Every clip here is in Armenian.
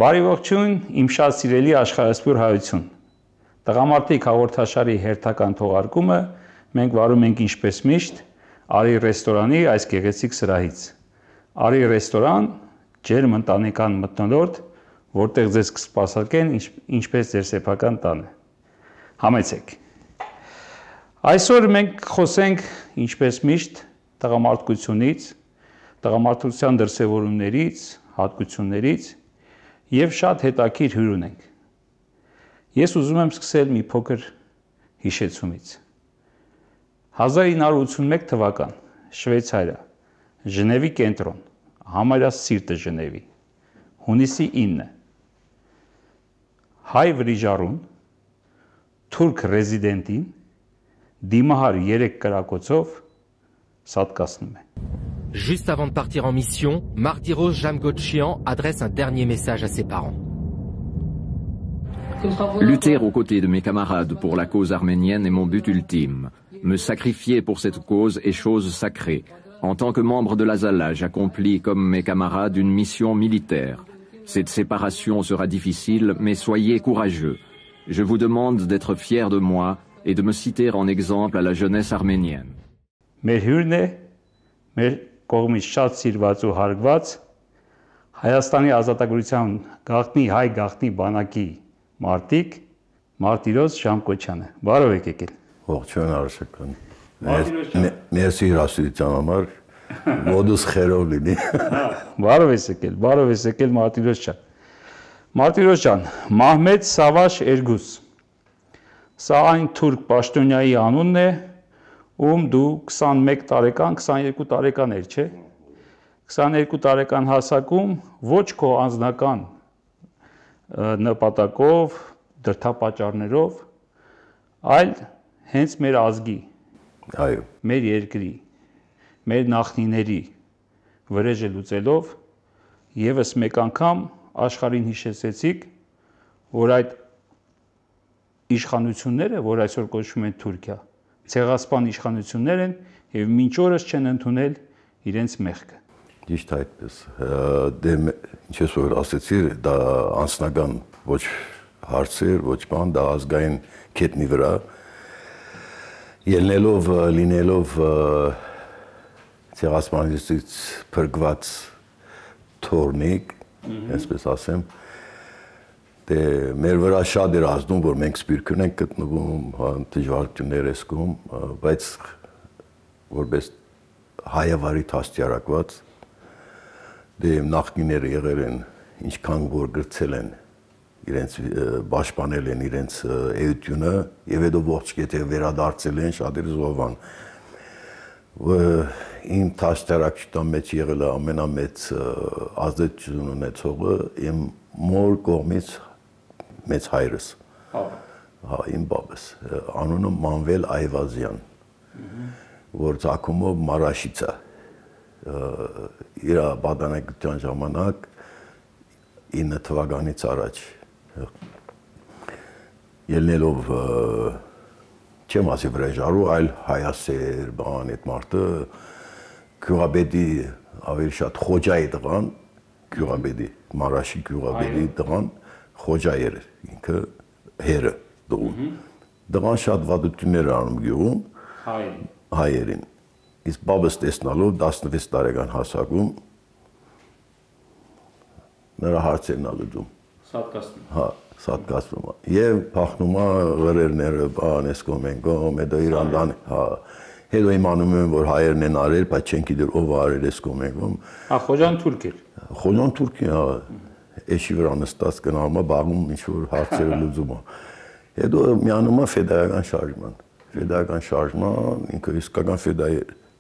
Բարի ողջույն, իմ շատ սիրելի աշխարհասփյուր հայություն։ Տղամարդիկ հաղորդաշարի հերթական թողարկումը մենք վարում ենք ինչպես միշտ Արի ռեստորանի այս գեղեցիկ սրահից։ Արի ռեստորան, ջերմ ընտանեկան մթնոլորտ, որտեղ ձեզ կսպասարկեն ինչպես ձեր սեփական տանը։ Համեցեք։ Այսօր մենք խոսենք ինչպես միշտ տղամարդկությունից, տղամարդության դրսևորումներից, հատկություններից եւ շատ հետաքրքիր հյուր ունենք։ Ես ուզում եմ սկսել մի փոքր հիշեցումից։ 1981 թվական Շվեյցարիա, Ժնևի կենտրոն, համարյա սիրտը Ժնևի, հունիսի 9 հայ վրիժառուն, թուրք ռեզիդենտին, դիմահար 3 կրակոցով սատկացնում է։ Juste avant de partir en mission, Martyros Jamgochian adresse un dernier message à ses parents. Lutter aux côtés de mes camarades pour la cause arménienne est mon but ultime. Me sacrifier pour cette cause est chose sacrée. En tant que membre de l'Azala, j'accomplis comme mes camarades une mission militaire. Cette séparation sera difficile, mais soyez courageux. Je vous demande d'être fiers de moi et de me citer en exemple à la jeunesse arménienne. Կողմից շատ սիրված ու հարգված Հայաստանի ազատագրության գաղտնի հայ գաղտնի բանակի մարտիկ Մարտիրոս Ժամկոչյանը։ Բարով եք եկել։ Ողջույն Արշական։ Մերսի հրավերության համար մոդուս խերով լինի։ Բարով ես եկել Մարտիրոս ջան։ Մարտիրոս ջան, Մահմեդ Սավաշ Էրգուս։ Սա այն թուրք պաշտոնյայի անունն է, ում դու 21 տարեկան, 22 տարեկան էր, չէ՞։ 22 տարեկան հասակում ոչ քո անձնական նպատակով, դրդապատճառներով, այլ հենց մեր ազգի, այո, մեր երկրի, մեր նախնիների վրեժը լուծելով եւս մեկ անգամ աշխարհին հիշեցեցիք, որ այդ իշխանությունները, որ այսօր կոչվում են Թուրքիա, ցեղասպան իշխանություններ են եւ մինչ օրս չեն ընդունել իրենց մեղքը։ Ճիշտ այդպես։ Դե ինչպես որ ասեցի, դա անձնական ոչ հարցեր, ոչ բան, դա ազգային կետնի վրա ելնելով լինելով ցեղասպանությունից փրկված թորնիկ, այսպես ասեմ, դե մեր վրա շատ էր ազդում, որ մենք սպիրկուն ենք գտնվում, դժվարություններ էսկում, բայց որպես հայավարի տաստիարակված, դե նախնիները եղել են, ինչքան որ գրցել են, իրենց պաշտպանել են իրենց էությունը եւ հետո ողջ կետը վերադարձել են շատեր զոհվան։ Իմ տաստիարակության մեջ եղել է ամենամեծ ազդեցություն ունեցողը իմ մոր կողմից մեծ հայրս, հա, իմ բաբս, անունը Մանվել Այվազյան, որ ծագումով Մարաշից է, իր պատանեկության ժամանակ 9 թվականից առաջ, ելնելով չեմ ասի վրեժարու, այլ հայասեր, բան այդ մարդը, գյուղաբեդի ավելի շատ խոջայի տղան, գյուղաբեդի, Մարաշի գյուղաբեդի տղան, խոջա էր ինքը հերը դողում։ Դղան շատ վատություններ անում գյուղում հայերին։ Իսկ բաբս տեսնալով 16 տարեկան հասակում նրա հարցերն ալուծում։ Սատկացնում։ Հա, սատկացնում։ Եվ փախնում է ղրերները, բան էսկոմ են գոմ, հետո Իրանdan, հա, հետո իմանում են, որ հայերն են արել, բայց չեն գիտեր ով արել էսկոմ են գոմ։ Հա, խոջան թուրք էր։ Խոջան թուրք է, հա։ Էշի վրա նստած գնալու է բաղում ինչ-որ հարցերը լուծում է։ Հետո միանում է ֆեդայական շարժման։ Ֆեդայական շարժման, ինքը իսկական ֆեդայ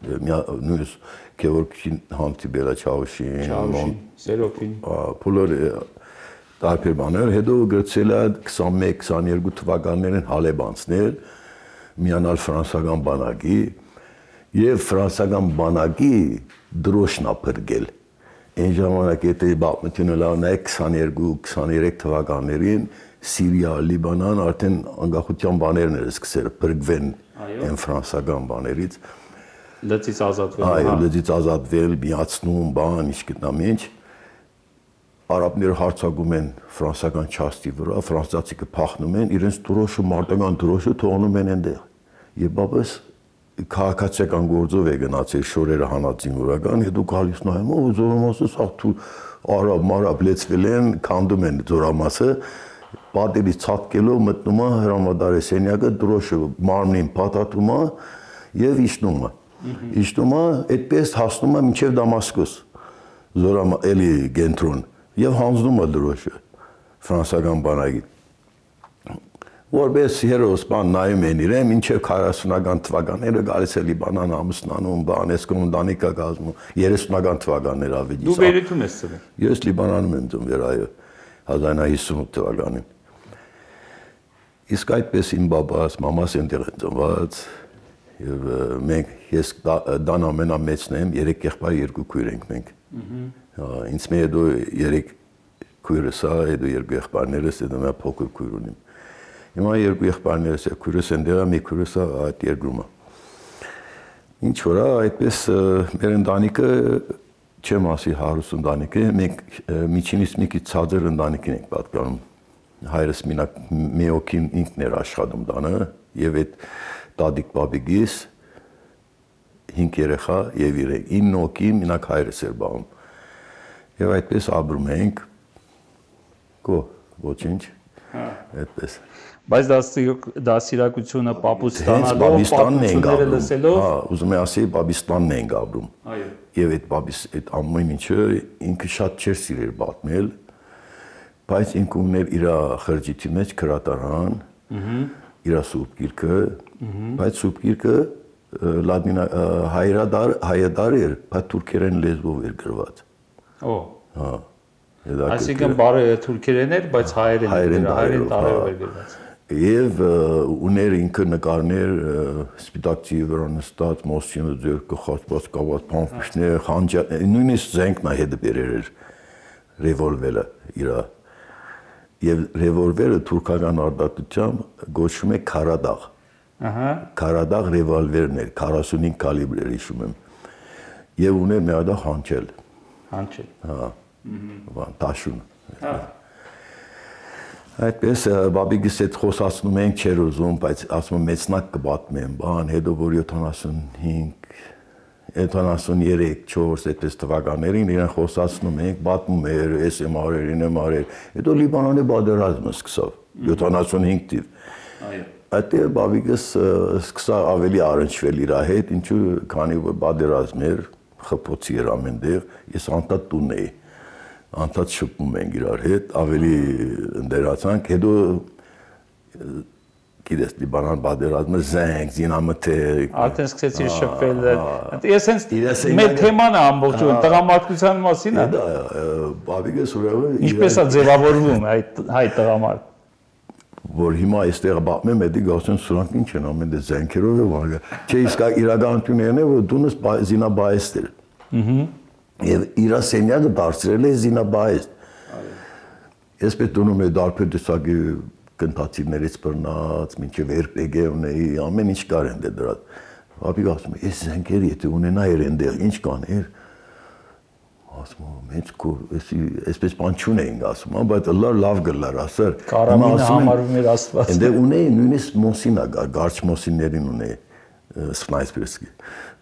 նույնս Գեորգին հանդիպելա Չաուշին, Սերոփին, բոլոր տարբեր բաներ, հետո գրծել է 21-22 թվականներին Հալեբանցնել, միանալ ֆրանսական բանակի եւ ֆրանսական բանակի դրոշնա փրկել։ Այն ժամանակ եթե բապմությունը լավնայ 22-23 թվականներին Սիրիա, Լիբանան արդեն անկախության բաներն էր սկսել փրկվեն այն ֆրանսական բաներից։ Լծից ազատվել։ Այո, լծից ազատվել, միացնում, բան, ինչ գտնամ ինչ։ արաբները հարձակում են ֆրանսիական չաստի վրա, ֆրանսիացիքը փախնում են, իրենց դրոշը, մարտական դրոշը թողնում են այնտեղ։ Եվ բաբս քաղաքացիական գործով է գնացել շորերը հանածին վրական, հետո գալիս նայում, զորամասը սա արաբ լեցվել են, քանդում են զորամասը, պատերից ցատկելով մտնում է հրամադարի սենյակը, դրոշը մարմնին փաթաթում է եւ իջնում է։ Իջնում է, այդպես հասնում է մինչև Դամասկոս, էլի կենտրոն, եւ հանձնում է դրոշը ֆրանսիական բանակին։ Որպես հերոսպան նայում են իրեն, մինչև 40-ական թվականները գալիս է Լիբանան ամուսնանում, բանեսկոմ ընտանիք կազմում, 30-ական թվականներ ավելի։ Դու Բեյրութում ես ծնվել։ Ես Լիբանանում եմ ծնվել, այո, 1958 թվականին։ Իսկ այդպես իմ բաբաս, մամաս այնտեղ են ծնված, եւ մենք ես դան ամենամեծն եմ, 3 եղբայր, 2 քույր ենք մենք։ Ինձ մի հետո 3 քույրս ա, հետո 2 եղբայրներս, հետո մի փոքր քույր ունիմ։ Հիմա 2 եղբայրներս է, քույրս այնտեղ է, մի քույրս ա այդ երկրում է։ Ինչ որ է, այդպես մեր ընտանիքը չեմ ասի հարուստ ընտանիք է, մենք միջինից մի քիչ ցածր ընտանիքին ենք պատկանում։ Հայրս մի օքին ինքն էր աշխատում տանը, եւ այդ տատիկ բաբիկիս 5 երեխա եւ 9 օքի մենակ հայրս էր բաղում։ Եվ այդպես ապրում ենք, ոչինչ, այդպես։ Բայց դասիրակությունը պապուց ստանալով, պատմությունները լսելով, ուզում եմ ասել, Բաբիստանն ենք ապրում։ Եվ այդ ամեն ինչը ինքը շատ չէր սիրել պատմել, բայց ինքը ուներ իր խրճիթի մեջ քրատարան, իր սուրբ գիրքը, բայց սուրբ գիրքը հայադար էր, բայց թուրքերեն լեզվով էր գրված։ Հա։ Այսինքն բարը թուրքերեն էր, բայց հայերեն տարերով էր գրված։ Եվ ուներ ինքը նկարներ սպիտակ ծիի վրա նստած, մոսինը ձեռքը խաչված կաված փամփուշտներ, խանջար, նույնիսկ զենքն է հետ բերեր էր ռևոլվերը իր։ Եվ ռևոլվերը թուրքական արտադրությամբ գոչվում է Քարադաղ։ Քարադաղ ռևոլվերն էր, 45 կալիբր էր հիշում եմ։ Եվ ուներ մի հատ հանճել։ Հանճել։ Հա։ Բան տաշուն։ Այդպես բաբիկիս հետ խոսացնում ենք, չէր ուզում, բայց ասում եմ մեծնակ կպատմեմ, բան, հետո որ 75, 73-4 այդպես թվականներին իրեն խոսացնում ենք, պատմում էր, ես եմ արել, ինձ եմ արել, հետո Լիբանանի պատերազմը սկսավ, 75 թիվ։ Այդտեղ բաբիկս սկսավ ավելի առնչվել իր հետ, ինչու քանի որ պատերազմ էր, խփոցի էր ամենտեղ, ես անդադ տուն էի, անդադ շփում ենք իրար հետ, ավելի ընդերացանք, հետո գիտես Լիբանան պատերազմը զենք, զինամթերք։ Արդեն սկսեցի շփվել։ Ես հենց մեր թեման է ամբողջովին տղամարդկության մասին է։ Բաբիկս ուրեմն ինչպես է ձևավորվում հայ տղամարդ։ Որ հիմա այստեղ պատմեմ, էդի գասեն սրանք ինչ են ամեն դե զենքերով է վարը։ Չէ, իսկ իրականությունն է, որ դունս զինաբայեստ էր։ Եվ իր սենյակը դարձրել է զինաբայեստ։ Ես պետք է դարբեր տեսակի կնտացիներից բռնած, մինչև RPG ունեի, ամեն ինչ կար են դրա։ Բաբիկ ասում է, այս զենքերը եթե ունենայր այնտեղ, ինչ կաներ։ Ասում եմ, այսպես բան չունեինք ասում, բայց լավ գլար, ասար։ Կարամինը համարվում էր Աստված։ Այնտեղ ունեի նույնիսկ մոսինա, գարչ մոսիններին ունեի, սնայպերսկի։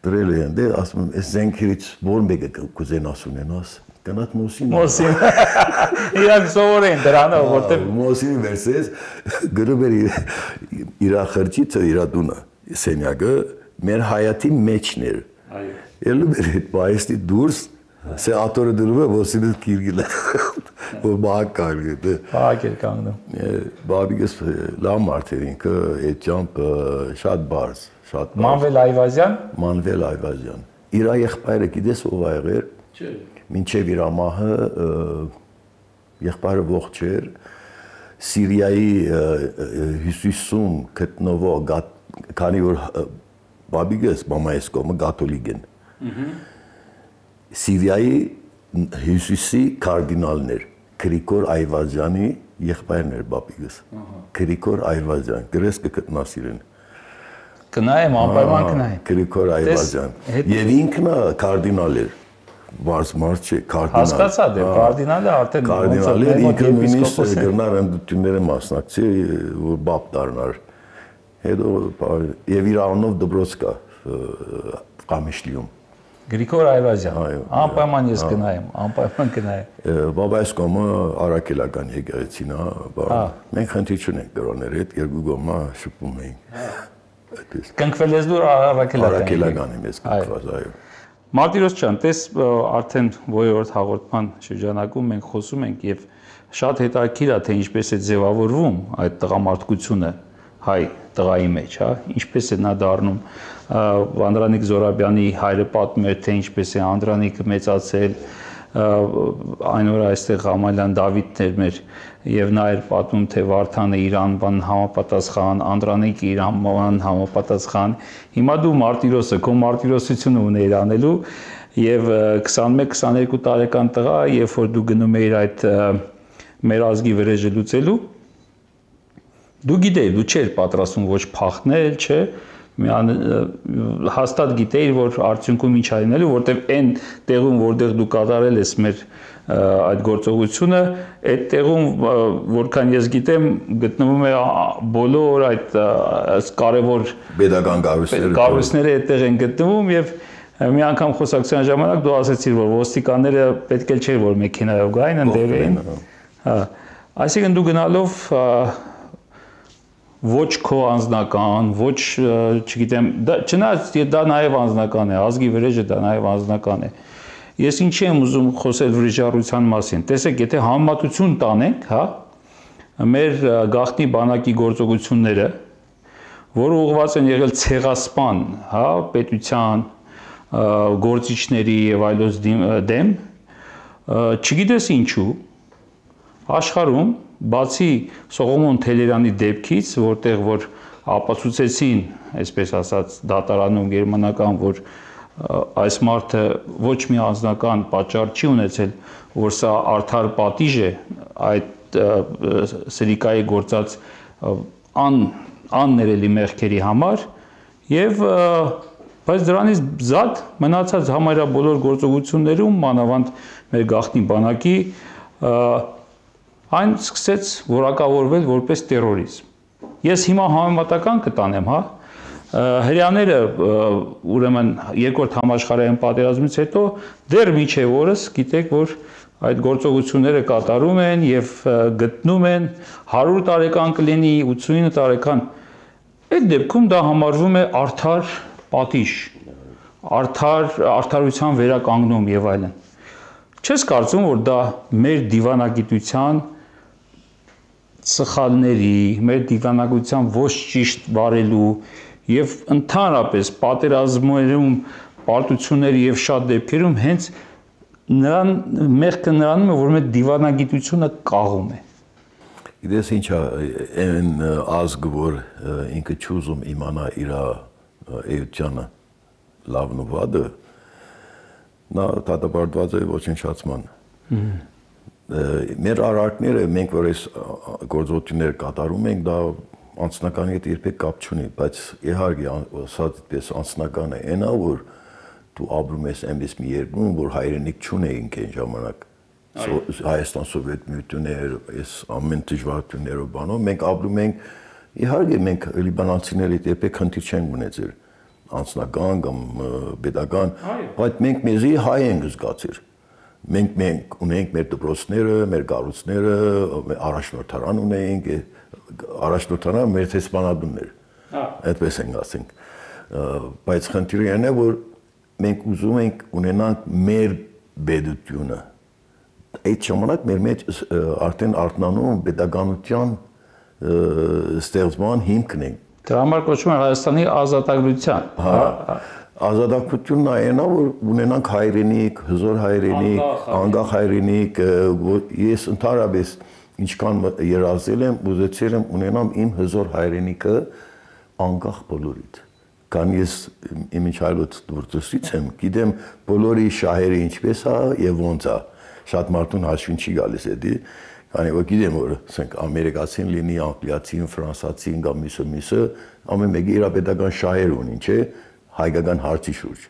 Դրել է այնտեղ, ասում եմ, այս զենքերից որ մեկը կուզենաս ունենաս։ Գնաց մոսին։ Մոսին։ Իրանք սովոր են դրանով, որտեղ մոսին վերսես գրում էր իր խրճիթը, իր տունը, սենյակը մեր հայատի մեջն էր։ Այո։ Ելում էր այդ բայստի դուրս, սե աթորը դրում է մոսինը կիրգիլ։ Որ բակ կարգը։ Բակ էր կանգնում։ Բաբիկս լավ մարդ էր ինքը, այդ ճամփ շատ բարձ, շատ։ Մանվել Այվազյան։ Մանվել Այվազյան։ Իր եղբայրը գիտես ով ա եղել։ Չէ։ Մինչև իր ամահը եղբայրը ողջ էր, Սիրիայի հյուսիսում գտնվող, քանի որ բաբիկս մամայիս կողմը կաթոլիկ են, Սիրիայի հյուսիսի կարդինալն էր, Գրիգոր Այվազյանի եղբայրն էր բաբիկս, Գրիգոր Այվազյան, գրես կգտնաս իրեն։ Կնայեմ, անպայման կնայեմ։ Գրիգոր Այվազյան, և ինքնը կարդինալ էր։ բարձ մարդ չի, կարդինալ։ Հասկացա, դե կարդինալը արդեն կարդինալը ինքը նույնիսկ գրնար ընդդիմները մասնակցի, որ բապ դառնար։ Հետո եւ իր անունով դպրոց կա Կամիշլիում։ Գրիգոր Այվազյան, անպայման ես գնայեմ, անպայման գնայեմ։ Բաբայս կոմը արաքելական եկեղեցին է, մենք խնդիր չունենք դրաների հետ, երկու կողմը շփում ենք։ Կնքվել ես դու արաքելական։ Արաքելական եմ ես կնքված, այո։ Մարտիրոս ջան, տես արդեն ողորդ հաղորդման շրջանակում մենք խոսում ենք եւ շատ հետաքրքիր է թե ինչպես է ձևավորվում այդ տղամարդկությունը հայ տղայի մեջ, հա, ինչպես է նա դառնում Անդրանիկ Զորաբյանի հայրը պատմում էր թե ինչպես է Անդրանիկը մեծացել, այն օրը այստեղ Ամալյան Դավիթն էր մեր եւ նա էր պատմում թե Վարդանը իր անվան համապատասխան, Անդրանիկը իր անվան համապատասխան։ Հիմա դու Մարտիրոսը քո մարտիրոսությունը ունեիր անելու եւ 21-22 տարեկան տղա, երբ որ դու գնում էիր այդ մեր ազգի վրեժը լուծելու, դու գիտեիր, դու չէիր պատրաստվում ոչ փախնել, չէ, հաստատ գիտեիր, որ արդյունքում ինչ այնելու, որտեվ այն տեղում, որտեղ դու կատարել ես մեր այդ գործողությունը, այդ տեղում, որքան ես գիտեմ, գտնվում է բոլոր այդ կարևոր pedagogan կառույցները այդտեղ են գտնվում եւ մի անգամ խոսակցության ժամանակ դու ասացիր, որ ոստիկանները պետք է չէր, որ մեքենայով գային, ընդդեմ էին։ Հա, այսինքն դու գնալով ոչ քո անձնական, ոչ, չգիտեմ, չնայած դա նաև անձնական է, ազգի վրեժը դա նաև անձնական է։ Ես ինչի եմ ուզում խոսել վրիժառության մասին։ Տեսեք, եթե համեմատություն տանենք, հա, մեր գաղտնի բանակի գործողությունները, որը ուղղված են եղել ցեղասպան, հա, պետության, գործիչների եւ այլոց դեմ, չգիտես ինչու, աշխարհում բացի Սողոմոն Թելերյանի դեպքից, որտեղ որ ապացուցեցին, այսպես ասած, դատարանում գերմանական, որ այս մարդը ոչ մի անձնական պատճառ չի ունեցել, որ սա արդար պատիժ է այդ սրիկայի գործած աններելի մեղքերի համար եւ բայց դրանից զատ մնացած համարյա բոլոր գործողություններում մանավանդ մեր գաղտնի բանակի այն սկսեց որակավորվել որպես տերորիզմ։ Ես հիմա համեմատական կտանեմ, հա, հрьяաները ուրեմն երկրորդ համաշխարհային պատերազմից հետո դեռ մինչև օրս գիտեք, որ այդ գործողությունները կատարում են եւ գտնում են 100 տարեկան կլինի, 89 տարեկան։ Այդ դեպքում դա համարվում է արդար պատիժ, արդարության վերականգնում եւ այլն։ Չես կարծում, որ դա մեր դիվանագիտության սխալների, մեր դիվանագիտության ոչ ճիշտ բարելու եւ ընդհանրապես պատերազմներում, պարտությունների եւ շատ դեպքերում հենց նրան մեղքը նրանում է, որ մեր դիվանագիտությունը կաղում է։ Գիտես ինչա, այն ազգը, որ ինքը չուզում իմանա իր էությունը լավն ու վատը, նա դատապարտված է ոչնչացման։ Մեր արարքները, մենք որ այս գործողությունները կատարում ենք, դա անձնականի հետ երբեք կապ չունի, բայց իհարկե ասած դες անձնական է, այնա որ դու ապրում ես այնպես մի երկրում, որ հայրենիք չունեինք այն ժամանակ։ Հայաստան Սովետ միություններ, այս ամեն դժվարություններով բանով մենք ապրում ենք, իհարկե մենք լիբանանցիների հետ երբեք խնդիր չենք ունեցել, անձնական կամ pedagogan, բայց մենք մեզի հայ ենք զգացել։ Մենք ունենք մեր դպրոցները, մեր կառույցները, առաջնորդարան ունենք, առաջնորդարանը մեր տեսփանադուններ։ Այդպես ենք ասենք։ Բայց խնդիրը այն է, որ մենք ուզում ենք ունենանք մեր բեդությունը։ Այդ ժամանակ մեր մեջ արդեն արտնանում pedagoganության ստեղծման հիմքն է։ Դրա համար կոչվում է Հայաստանի ազատագրության։ Ազատագրությունն այն է, որ ունենանք հայրենիք, հզոր հայրենիք, անկախ հայրենիք, ես ընդհանրապես ինչքան երազել եմ, ուզեցել եմ ունենամ իմ հզոր հայրենիքը անկախ բոլորից։ Քան ես իմ ինչայլոց դուրսից եմ, գիտեմ բոլորի շահերը ինչպես է եւ ոնց է։ Շատ մարդուն հաշվին չի գալիս էդի, քանի որ գիտեմ որ ասենք ամերիկացին լինի, անգլիացին, ֆրանսացին կամ միսը, ամեն մեկը իր պետական շահեր ունի, չէ՞։ հայկական հարցի շուրջ։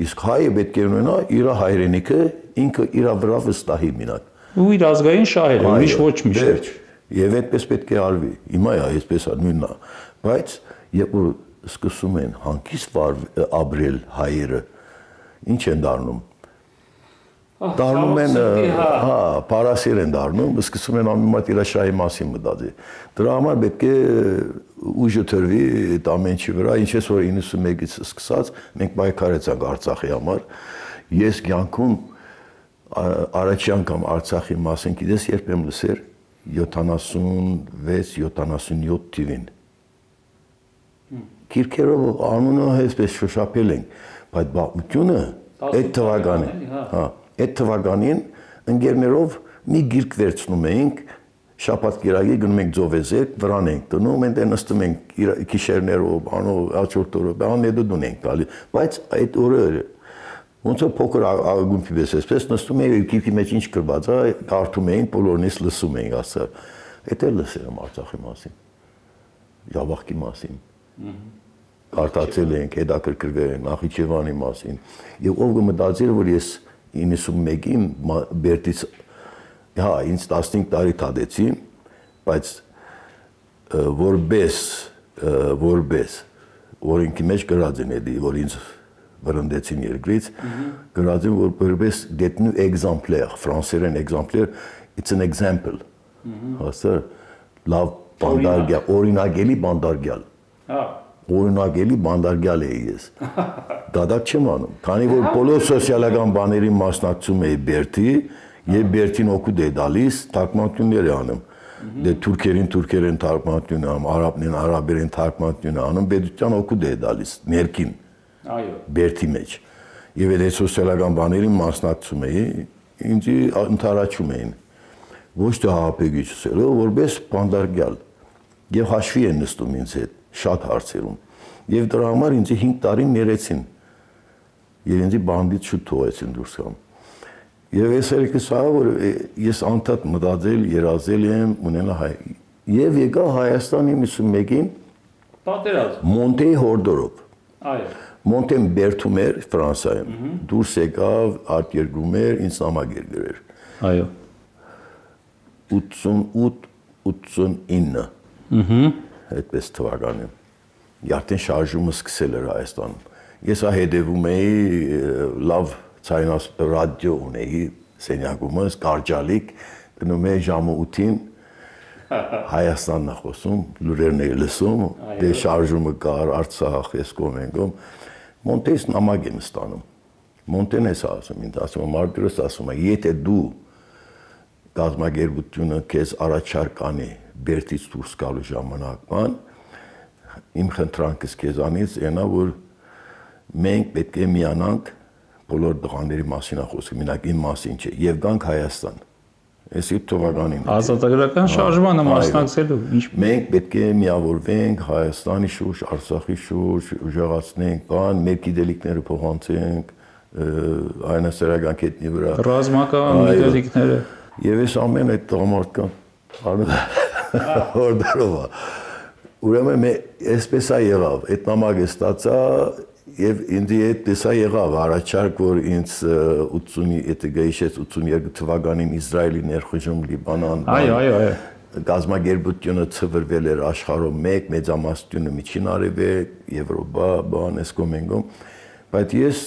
Իսկ հայը պետք է ունենա իր հայրենիքը ինքը իր վրա վստահի մինակ։ Ու իր ազգային շահերը, ուրիշ ոչ միշտ։ Եվ այդպես պետք է արվի։ Հիմա այսպես է նույնն է, բայց երբ որ սկսում են հանգիստ ապրել հայերը, ինչ են դառնում։ Դառնում են, հա, պարասեր են դառնում, սկսում են ամենամատ իր շահի մասին մտածել։ Դրա համար պետք է ուժը թրվի այդ ամեն ինչի վրա, ինչպես որ 91-ից սկսած մենք պայքարեցանք Արցախի համար։ Ես կյանքում առաջի անգամ Արցախի մասին գիտես երբ եմ լսել 76-77 թիվին։ Քիրքերով անունը այսպես շոշափել ենք, բայց բաղությունը այդ թվականին, հա, այդ թվականին ընկերներով մի գիրք վերցնում էինք, շաբաթ կիրակի գնում ենք Ձովեզեկ, վրան ենք տնում, այնտեղ նստում ենք գիշերներով, հաջորդ օրը, բանեդուն ենք տալի, բայց այդ օրը ոնց որ փոքր ագումբի պես էսպես նստում էինք գիրքի մեջ ինչ գրված է, կարդում էինք, բոլորնից լսում էինք ասա։ Այդ էլ լսել եմ Արցախի մասին, Ջավախքի մասին։ Կարդացել ենք, հետաքրքրվել ենք Նախիջևանի մասին։ Եվ ով կմտածեր, որ ես 91-ին Բերդից հա ինձ 15 տարի թադեցին, բայց որպես օրենքի մեջ գրած են էլի, որ ինձ վրընդեցին երկրից, գրած են, որ որպես դետնու էգզամպլեր, ֆրանսերեն էգզամպլեր, it's an example, հասա, լավ բանդարգյալ, օրինակելի բանդարգյալ, օրինակելի բանդարգյալ էի ես, դադակ չեմ անում, քանի որ բոլոր սոցիալական բաների մասնակցում էի Բերդի, եւ Բերդին օգուտ է դալիս, թարգմանություններ է անում, դե թուրքերեն թարգմանություն անում, արաբներին արաբերեն թարգմանություն անում, պետության օգուտ է դալիս, ներքին, Բերդի մեջ, եւ այդ սոցիալական բաներին մասնակցում էի, ինձ ընդառաջում էին, ոչ թե հապեգիչսելով, որպես բանդարգյալ, եւ հաշվի են նստում ինձ հետ, շատ հարցերում, եւ դրա համար ինձ 5 տարի ներեցին, եւ ինձ բանդից շուտ թողեցին դուրս գամ։ Եվ ես երեքս ահա որ ես անդադ մտածել, երազել եմ ունենա հայ։ Եվ եկա Հայաստան 91-ին պատերազմ Մոնտեի հորդորով։ Այո։ Մոնտեն Բերդում էր Ֆրանսիայում։ Դուրս եկավ, արտերգում էր, ինձ նամակ գրեր։ Այո։ 88-89։ Այդպես թվականին։ Արդեն շարժումը սկսել էր Հայաստանում։ Ես հետևում էի լավ ցայնաս ռադիո ունեի սենյակումս կարճալիկ գնում էի ժամը 8-ին Հայաստանն է խոսում լուրերն էի լսում դե շարժումը կար Արցախ ես կոմենգում Մոնտես նամակ եմ ստանում Մոնտեն էս ասում ինձ ասում Մարտիրոս ասում է եթե դու գազագերբությունը քեզ առաջարկ անի Բերդից դուրս գալու ժամանակման իմ խնդրանքս քեզանից այնա որ մենք պետք է միանանք բոլոր դղաների մասին է խոսքը, մենակ իմ մասին չէ, եւ գանք Հայաստան։ Այս իր թվականին։ Ազատագրական շարժմանը մասնակցելու ինչ մենք պետք է միավորվենք Հայաստանի շուրջ, Արցախի շուրջ, ուժեղացնենք, բան, մեր գիտելիքները փոխանցենք այնասերական կետնի վրա։ Ռազմական գիտելիքները։ Եվ այս ամեն այդ տղամարդկան հորդորով։ Ուրեմն այսպես է եղավ, այդ նամակը ստացա Եվ ինձ այդպես է եղավ առաջարկ, որ ինձ 82 թվականին Իսրայելի ներխուժում Լիբանան գազագերբությունը ծրվել էր աշխարհում մեկ մեծամասնությունը միջին արևելք, Եվրոպա, բան էսկոմենգում, բայց ես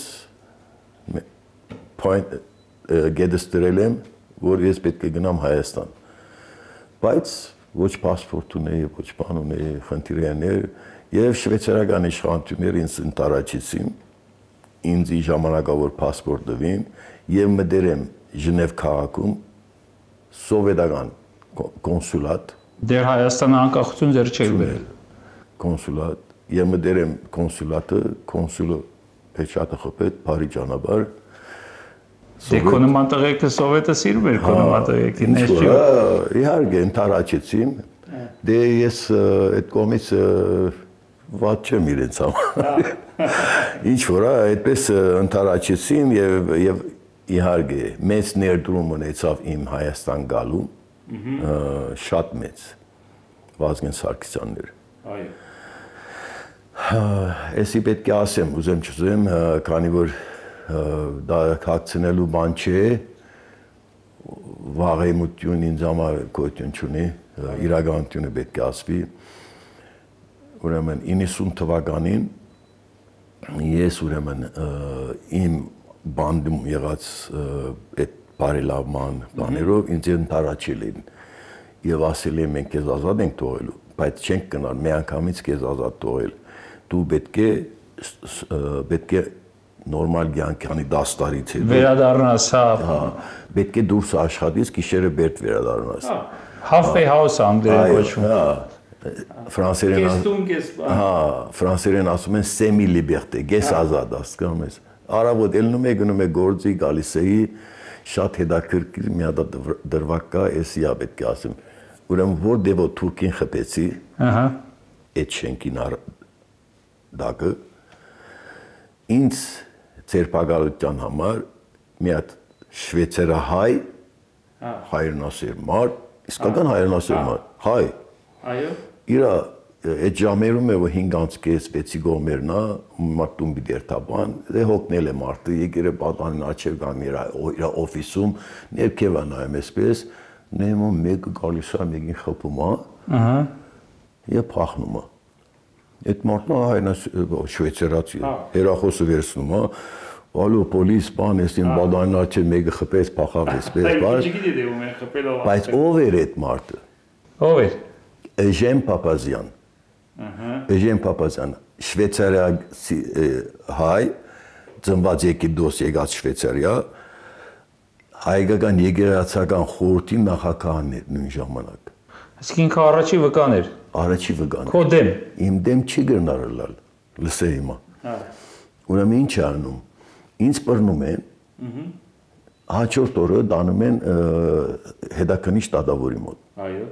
գեդստրել եմ, որ ես պետք է գնամ Հայաստան, բայց ոչ պասպորտ ունեի, ոչ բան ունեի, խնդիրներ Եվ շվեյցարական իշխանությունները ինձ ընտարաչեցին, ինձ ժամանակավոր պասպորտ տվին եւ մտերեմ Ժնև քաղաքում սովետական կոնսուլատ Դեր Հայաստանը անկախություն դեռ չէր բերել կոնսուլատ եւ մտերեմ կոնսուլատը կոնսուլը փեչատը խփեց բարի ճանապարհ Դե կոնոման տղեկը սովետը սիրում էր կոնոման տղեկին ես չէ Իհարկե ընտարաչեցին դե ես այդ կողմից Ված չեմ իրենց համար, ինչ որ այդպես ընտարաչեցին և իհարգե մեծ ներդրում ունեցավ իմ Հայաստան գալու, շատ մեծ, Վազգեն Սարգսյանն էր։ Էսի պետք է ասեմ, ուզեմ չուզեմ, քանի որ դա հագցնելու բան չէ, վաղեմություն ինձ համար գոյություն չունի, իրականությունը պետք է ասվի։ Ուրեմն 90 թվականին ես ուրեմն իմ բանդում եղած այդ բարելավման բաներով ինձ ընդառաջել էին եւ ասել են մենք քեզ ազատ ենք թողելու, բայց չենք գնալ մի անգամից քեզ ազատ թողել։ Դու պետք է նորմալ կյանքի 10 տարից հետո վերադառնաս, հա, պետք է դուրս աշխատես, գիշերը բերդ վերադառնաս։ Halfway house անգլերեն կոչվում։ Հա, ֆրանսերեն ասում են semi liberté, գես ազատ, հասկանում ես։ Արաբոտ ելնում է գնում է գործի, գալիս էի, շատ հետաքրքիր մի հատ դրվակ կա, էսի է պետք է ասեմ։ Ուրեմն որտեղ թուրքին խփեցի, ահա, այդ շենքին դակը ինձ ցերպակալության համար մի հատ շվեյցարահայ հայրենասեր մարդ, իսկական հայրենասեր մարդ, հայ։ Այո։ Իրա այդ ժամերում է 5:30-6 կողմերն է, մարտում դերթաբան, դե հոգնել է մարդը, եկել է պատանին աչև գան իր օֆիսում, ներքև է նայում այսպես, նայում մեկը գալիս է, մեկին խփում է, ահա, եւ փախնում է։ Այդ մարդը հայրենասեր շվեյցարացի է, հերախոսը վերցնում է, ալո պոլիս բան, էսին պատանին աչև մեկը խփեց, փախավ այսպես, բայց ով էր այդ մարդը։ Ով էր։ Էժեն Պապազյան։ Էժեն Պապազյան, շվեյցարիացի հայ, ծնված Եգիպտոս եկած Շվեյցարիա, հայկական եկեղեցական խորհրդի նախագահն էր նույն ժամանակ։ Իսկ ինքը առաջի վկան էր։ Առաջի վկան։ Քո դեմ։ Իմ դեմ չի գրնարել, լսե հիմա։ Ուրեմն ինչ անում։ Ինձ բռնում են։ Հաջորդ օրը դանում են հետաքննիչ դատավորի մոտ։ Այո։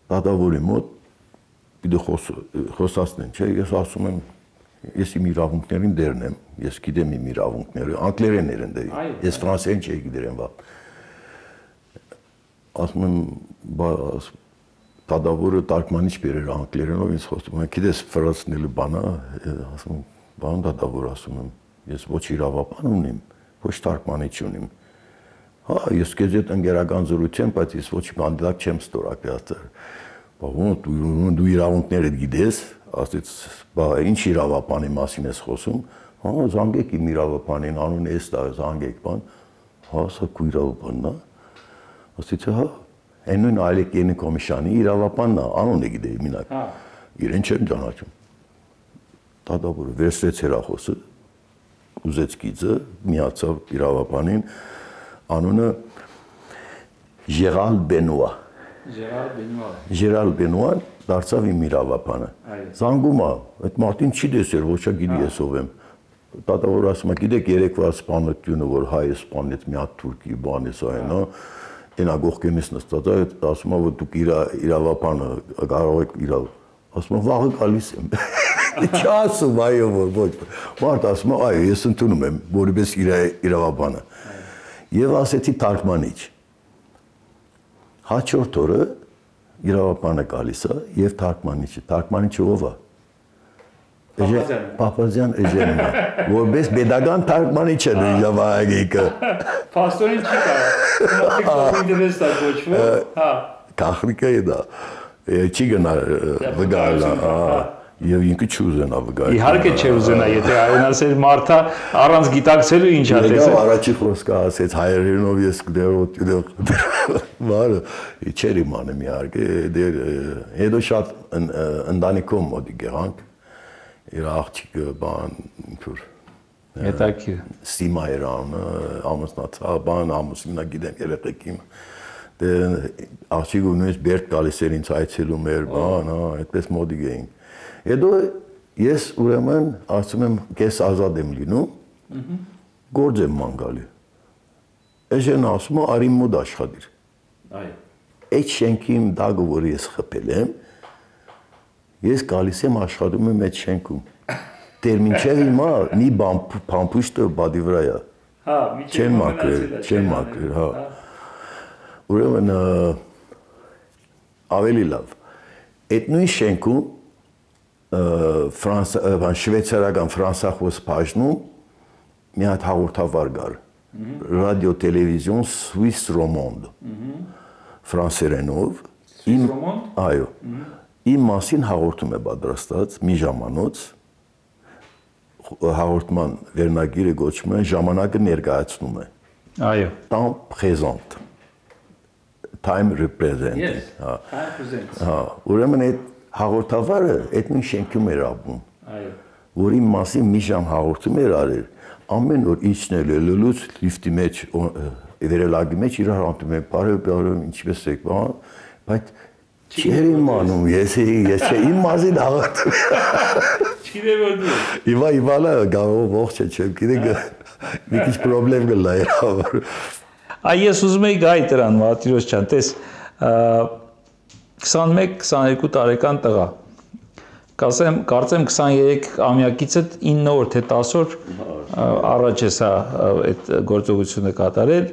Դատավորի մոտ պիտի խոսացնեն, չէ, ես ասում եմ, ես իմ իրավունքներին դերն եմ, ես գիտեմ իմ իրավունքները, անգլերեն են դե, ես ֆրանսերեն չէի գիտեմ, ասում եմ, դատավորը տարգմանիչ բերեր անգլերենով, ինձ խոսում եմ, գիտես ֆրանսերենի բանա, ասում եմ, բան դատավոր ասում եմ, ես ոչ իրավապան ունիմ, ոչ տարգմանիչ ունիմ, հա, ես քեզ հետ ընկերական զրույց եմ, բայց ես ոչ կանդիդատ չեմ ստորագրել։ Դու իրավունքներդ գիտես, ասեց, բա ինչ իրավապանի մասին ես խոսում, հա, զանգեք իմ իրավապանին, անուն էս տա, զանգեք բան, հա, սա քո իրավապանն է, ասեց, հա, այն նույն Այլեկենի կոմիսիանի իրավապանն է, անունը գիտեի մինակ, իրեն չեմ ճանաչում, դատավորը վերցրեց հեռախոսը, ուզեց գիծը, միացավ իրավապանին, անունը Ժերալ Բենուա։ Ժերալ Բենուան դարձավ իմ իրավապանը։ Զանգում է, այդ մարդին չի տեսել, ոչ գիտի ես ով եմ։ Դատավորը ասում է, գիտեք երեկվա սպանությունը, որ հայը սպանեց մի հատ թուրքի բան էս այն, հա, այնա գողքենից նստած է, ասում է, որ դուք իրավապանը կարող եք իրավ։ Ասում է, վաղը գալիս եմ։ Չասում, այո, որ ոչ։ Մարդ ասում է, այո, ես ընդունում եմ, որպես իրավապանը։ Եվ ասեցի թարգմանիչ։ Հաջորդ օրը իրավապանը գալիս է եւ թարգմանիչը ով է։ Պապազյան Էժենն է, որպես pedagogan թարգմանիչ է նույն ժամանակը։ Պաստորին չի կարող։ Ինտերեսա կոչվում, հա։ Կախրիկա է դա։ Չի գնա վգալա, եւ ինքը չուզենա վգալ։ Իհարկե չի ուզենա, եթե հայրենասեր մարդը առանց գիտակցելու ինչ ա տեսել։ Առաջի խոսքը ասեց հայերենով ես բարը չերի մանեմ իհարկե, հետո շատ ընտանիքում մոտ եղանք, իր աղջիկը բան ինչ-որ հետաքրքիր Սիմա էր ամուսնացավ, բան ամուսինա գիտեմ երեխեքին։ Դե աղջիկը նույնիսկ բերդ գալիս էր ինձ այցելում էր, բան, հա, այդպես մոդիկ էինք։ Հետո ես ուրեմն ասում եմ, կես ազատ եմ լինում, գործ եմ ման գալի։ Էժենը ասում է, արի մոտ աշխատիր։ Այդ շենքի իմ դագը, որ ես խփել եմ, ես գալիս եմ աշխատում եմ այդ շենքում։ Դեր մինչև հիմա մի փամփուշտը բադի վրա է։ Հա, չեն մաքրել, հա։ Ուրեմն ավելի լավ։ Այդ նույն շենքում շվեյցարական ֆրանսախոս բաժնում մի հատ հաղորդավար կար ռադիո տելևիզիոն Swiss Romand ֆրանսերենով այո իմ մասին հաղորդում է պատրաստած մի ժամանոց հաղորդման վերնագիրը գոչվում է ժամանակը ներկայացնում է այո temps présent time represent yes time present հա ուրեմն այդ հաղորդավարը այդ նույն շենքում էր ապրում այո որի մասին մի ժամ հաղորդում էր արել ամեն օր իջնել է լուլուց լիֆտի մեջ վերելագի մեջ իրար հանդիպում են բարև ինչպես եք բայց չէր իմանում ես իմ մասին հաղորդում չգիտեմ որ դու Իվալա գավով ողջ չեմ գիտեք մի քիչ խնդրեմ գլա էր այ ես ուզում եի գայ դրան Մարտիրոս ջան տես 21-22 տարեկան տղա կարծեմ 23-ամյակից 9 օր թե 10 օր առաջ է սա այդ գործողությունը կատարել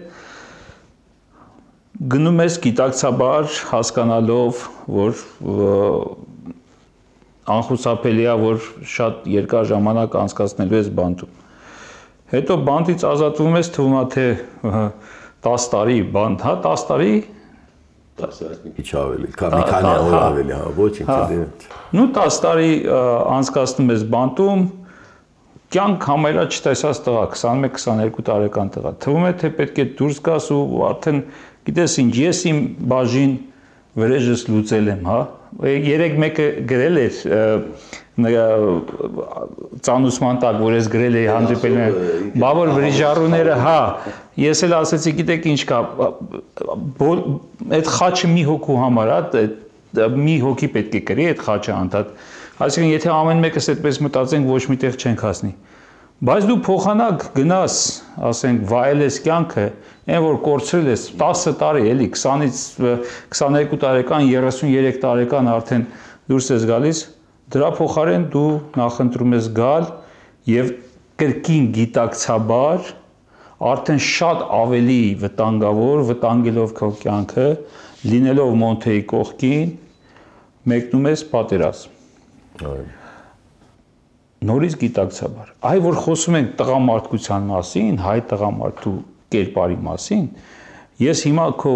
գնում ես գիտակցաբար հասկանալով որ անխուսափելի է որ շատ երկար ժամանակ անցկացնելու ես բանտում հետո բանտից ազատվում ես թվում է թե 10 տարի բանտ հա 10 տարի 10 քիչ ավելի մի քանի օր ավելի հա ոչինչ նու 10 տարի անցկացնում ես բանտում կյանք համարյա չտեսած տղա 21-22 տարեկան տղա թվում է թե պետք է դուրս գաս ու արդեն գիտես ինչ ես իմ բաժին վրեժս լուծել եմ հա երեք մեկը գրել էր ծանուցման տակ որ ես գրել էի հանդիպել բավոր վրիժառուները հա ես էլ ասեցի գիտեք ինչ կա այդ խաչը մի հոգու համար հա մի հոգի պետք է գրի այդ խաչը անդադ այսինքն եթե ամեն մեկս այդպես մտածենք ոչ միտեղ չենք հասնի բայց դու փոխանակ գնաս ասենք վայելես կյանքը այն որ կորցրել ես 10 տարի էլի 20-ից 22 տարեկան 33 տարեկան արդեն դուրս ես գալիս դրա փոխարեն դու նախընտրում ես գալ եւ կրկին գիտակցաբար արդեն շատ ավելի վտանգելով քո կյանքը լինելով Մոնթեի կողքին մեկնում ես պատերազմ նորից գիտակցաբար այ որ խոսում ենք տղամարդկության մասին հայ տղամարդու կերպարի մասին ես հիմա քո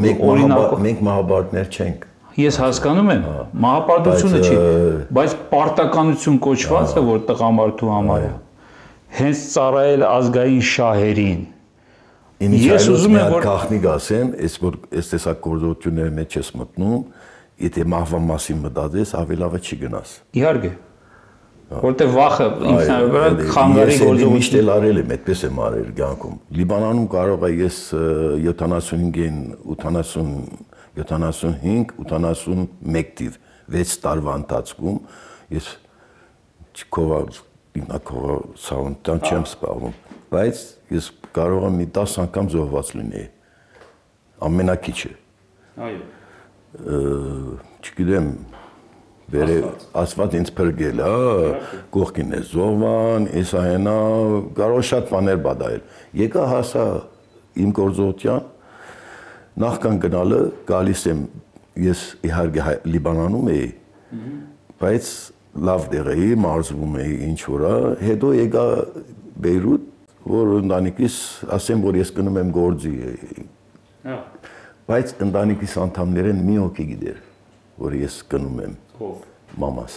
մենք մահաբարտներ չենք ես հասկանում եմ մահապարտությունը չի բայց պարտականություն կոչվածը որ տղամարդու համար է հենց ծառայել ազգային շահերին ես ուզում եմ որ գախնիկ ասեմ այս տեսակ գործողությունների մեջ ես մտնում եթե մահվան մասին մտածես ավելի լավ է չի գնաս իհարկե որտեղ վախը ինքնավար խանգարի գործողություն միշտ էլ արել եմ այդպես եմ արել կյանքում Լիբանանում կարող է ես 75-ին 85-81 թիվ 6 տարվա ընթացքում ես ինքնակողա սաունտան չեմ սպառում բայց ես կարող եմ մի 10 անգամ զոհված լինեի ամենակիչը այո չգիտեմ Վերը ասված ինձ փրկել, կողքին է զոհվան, էսա հենա, կարող շատ բաներ բադայել։ Եկա հասա իմ գործողության, նախքան գնալը գալիս եմ, ես իհարկե Լիբանանում էի, բայց լավ դեղ էի, մարզվում էի ինչ որա, հետո եկա Բեյրութ, որ ընտանիքիս ասեմ, որ ես գնում եմ գործի էի։ Բայց ընտանիքիս անդամներեն մի հոգի գիտեր, որ ես գնում եմ։ Մամաս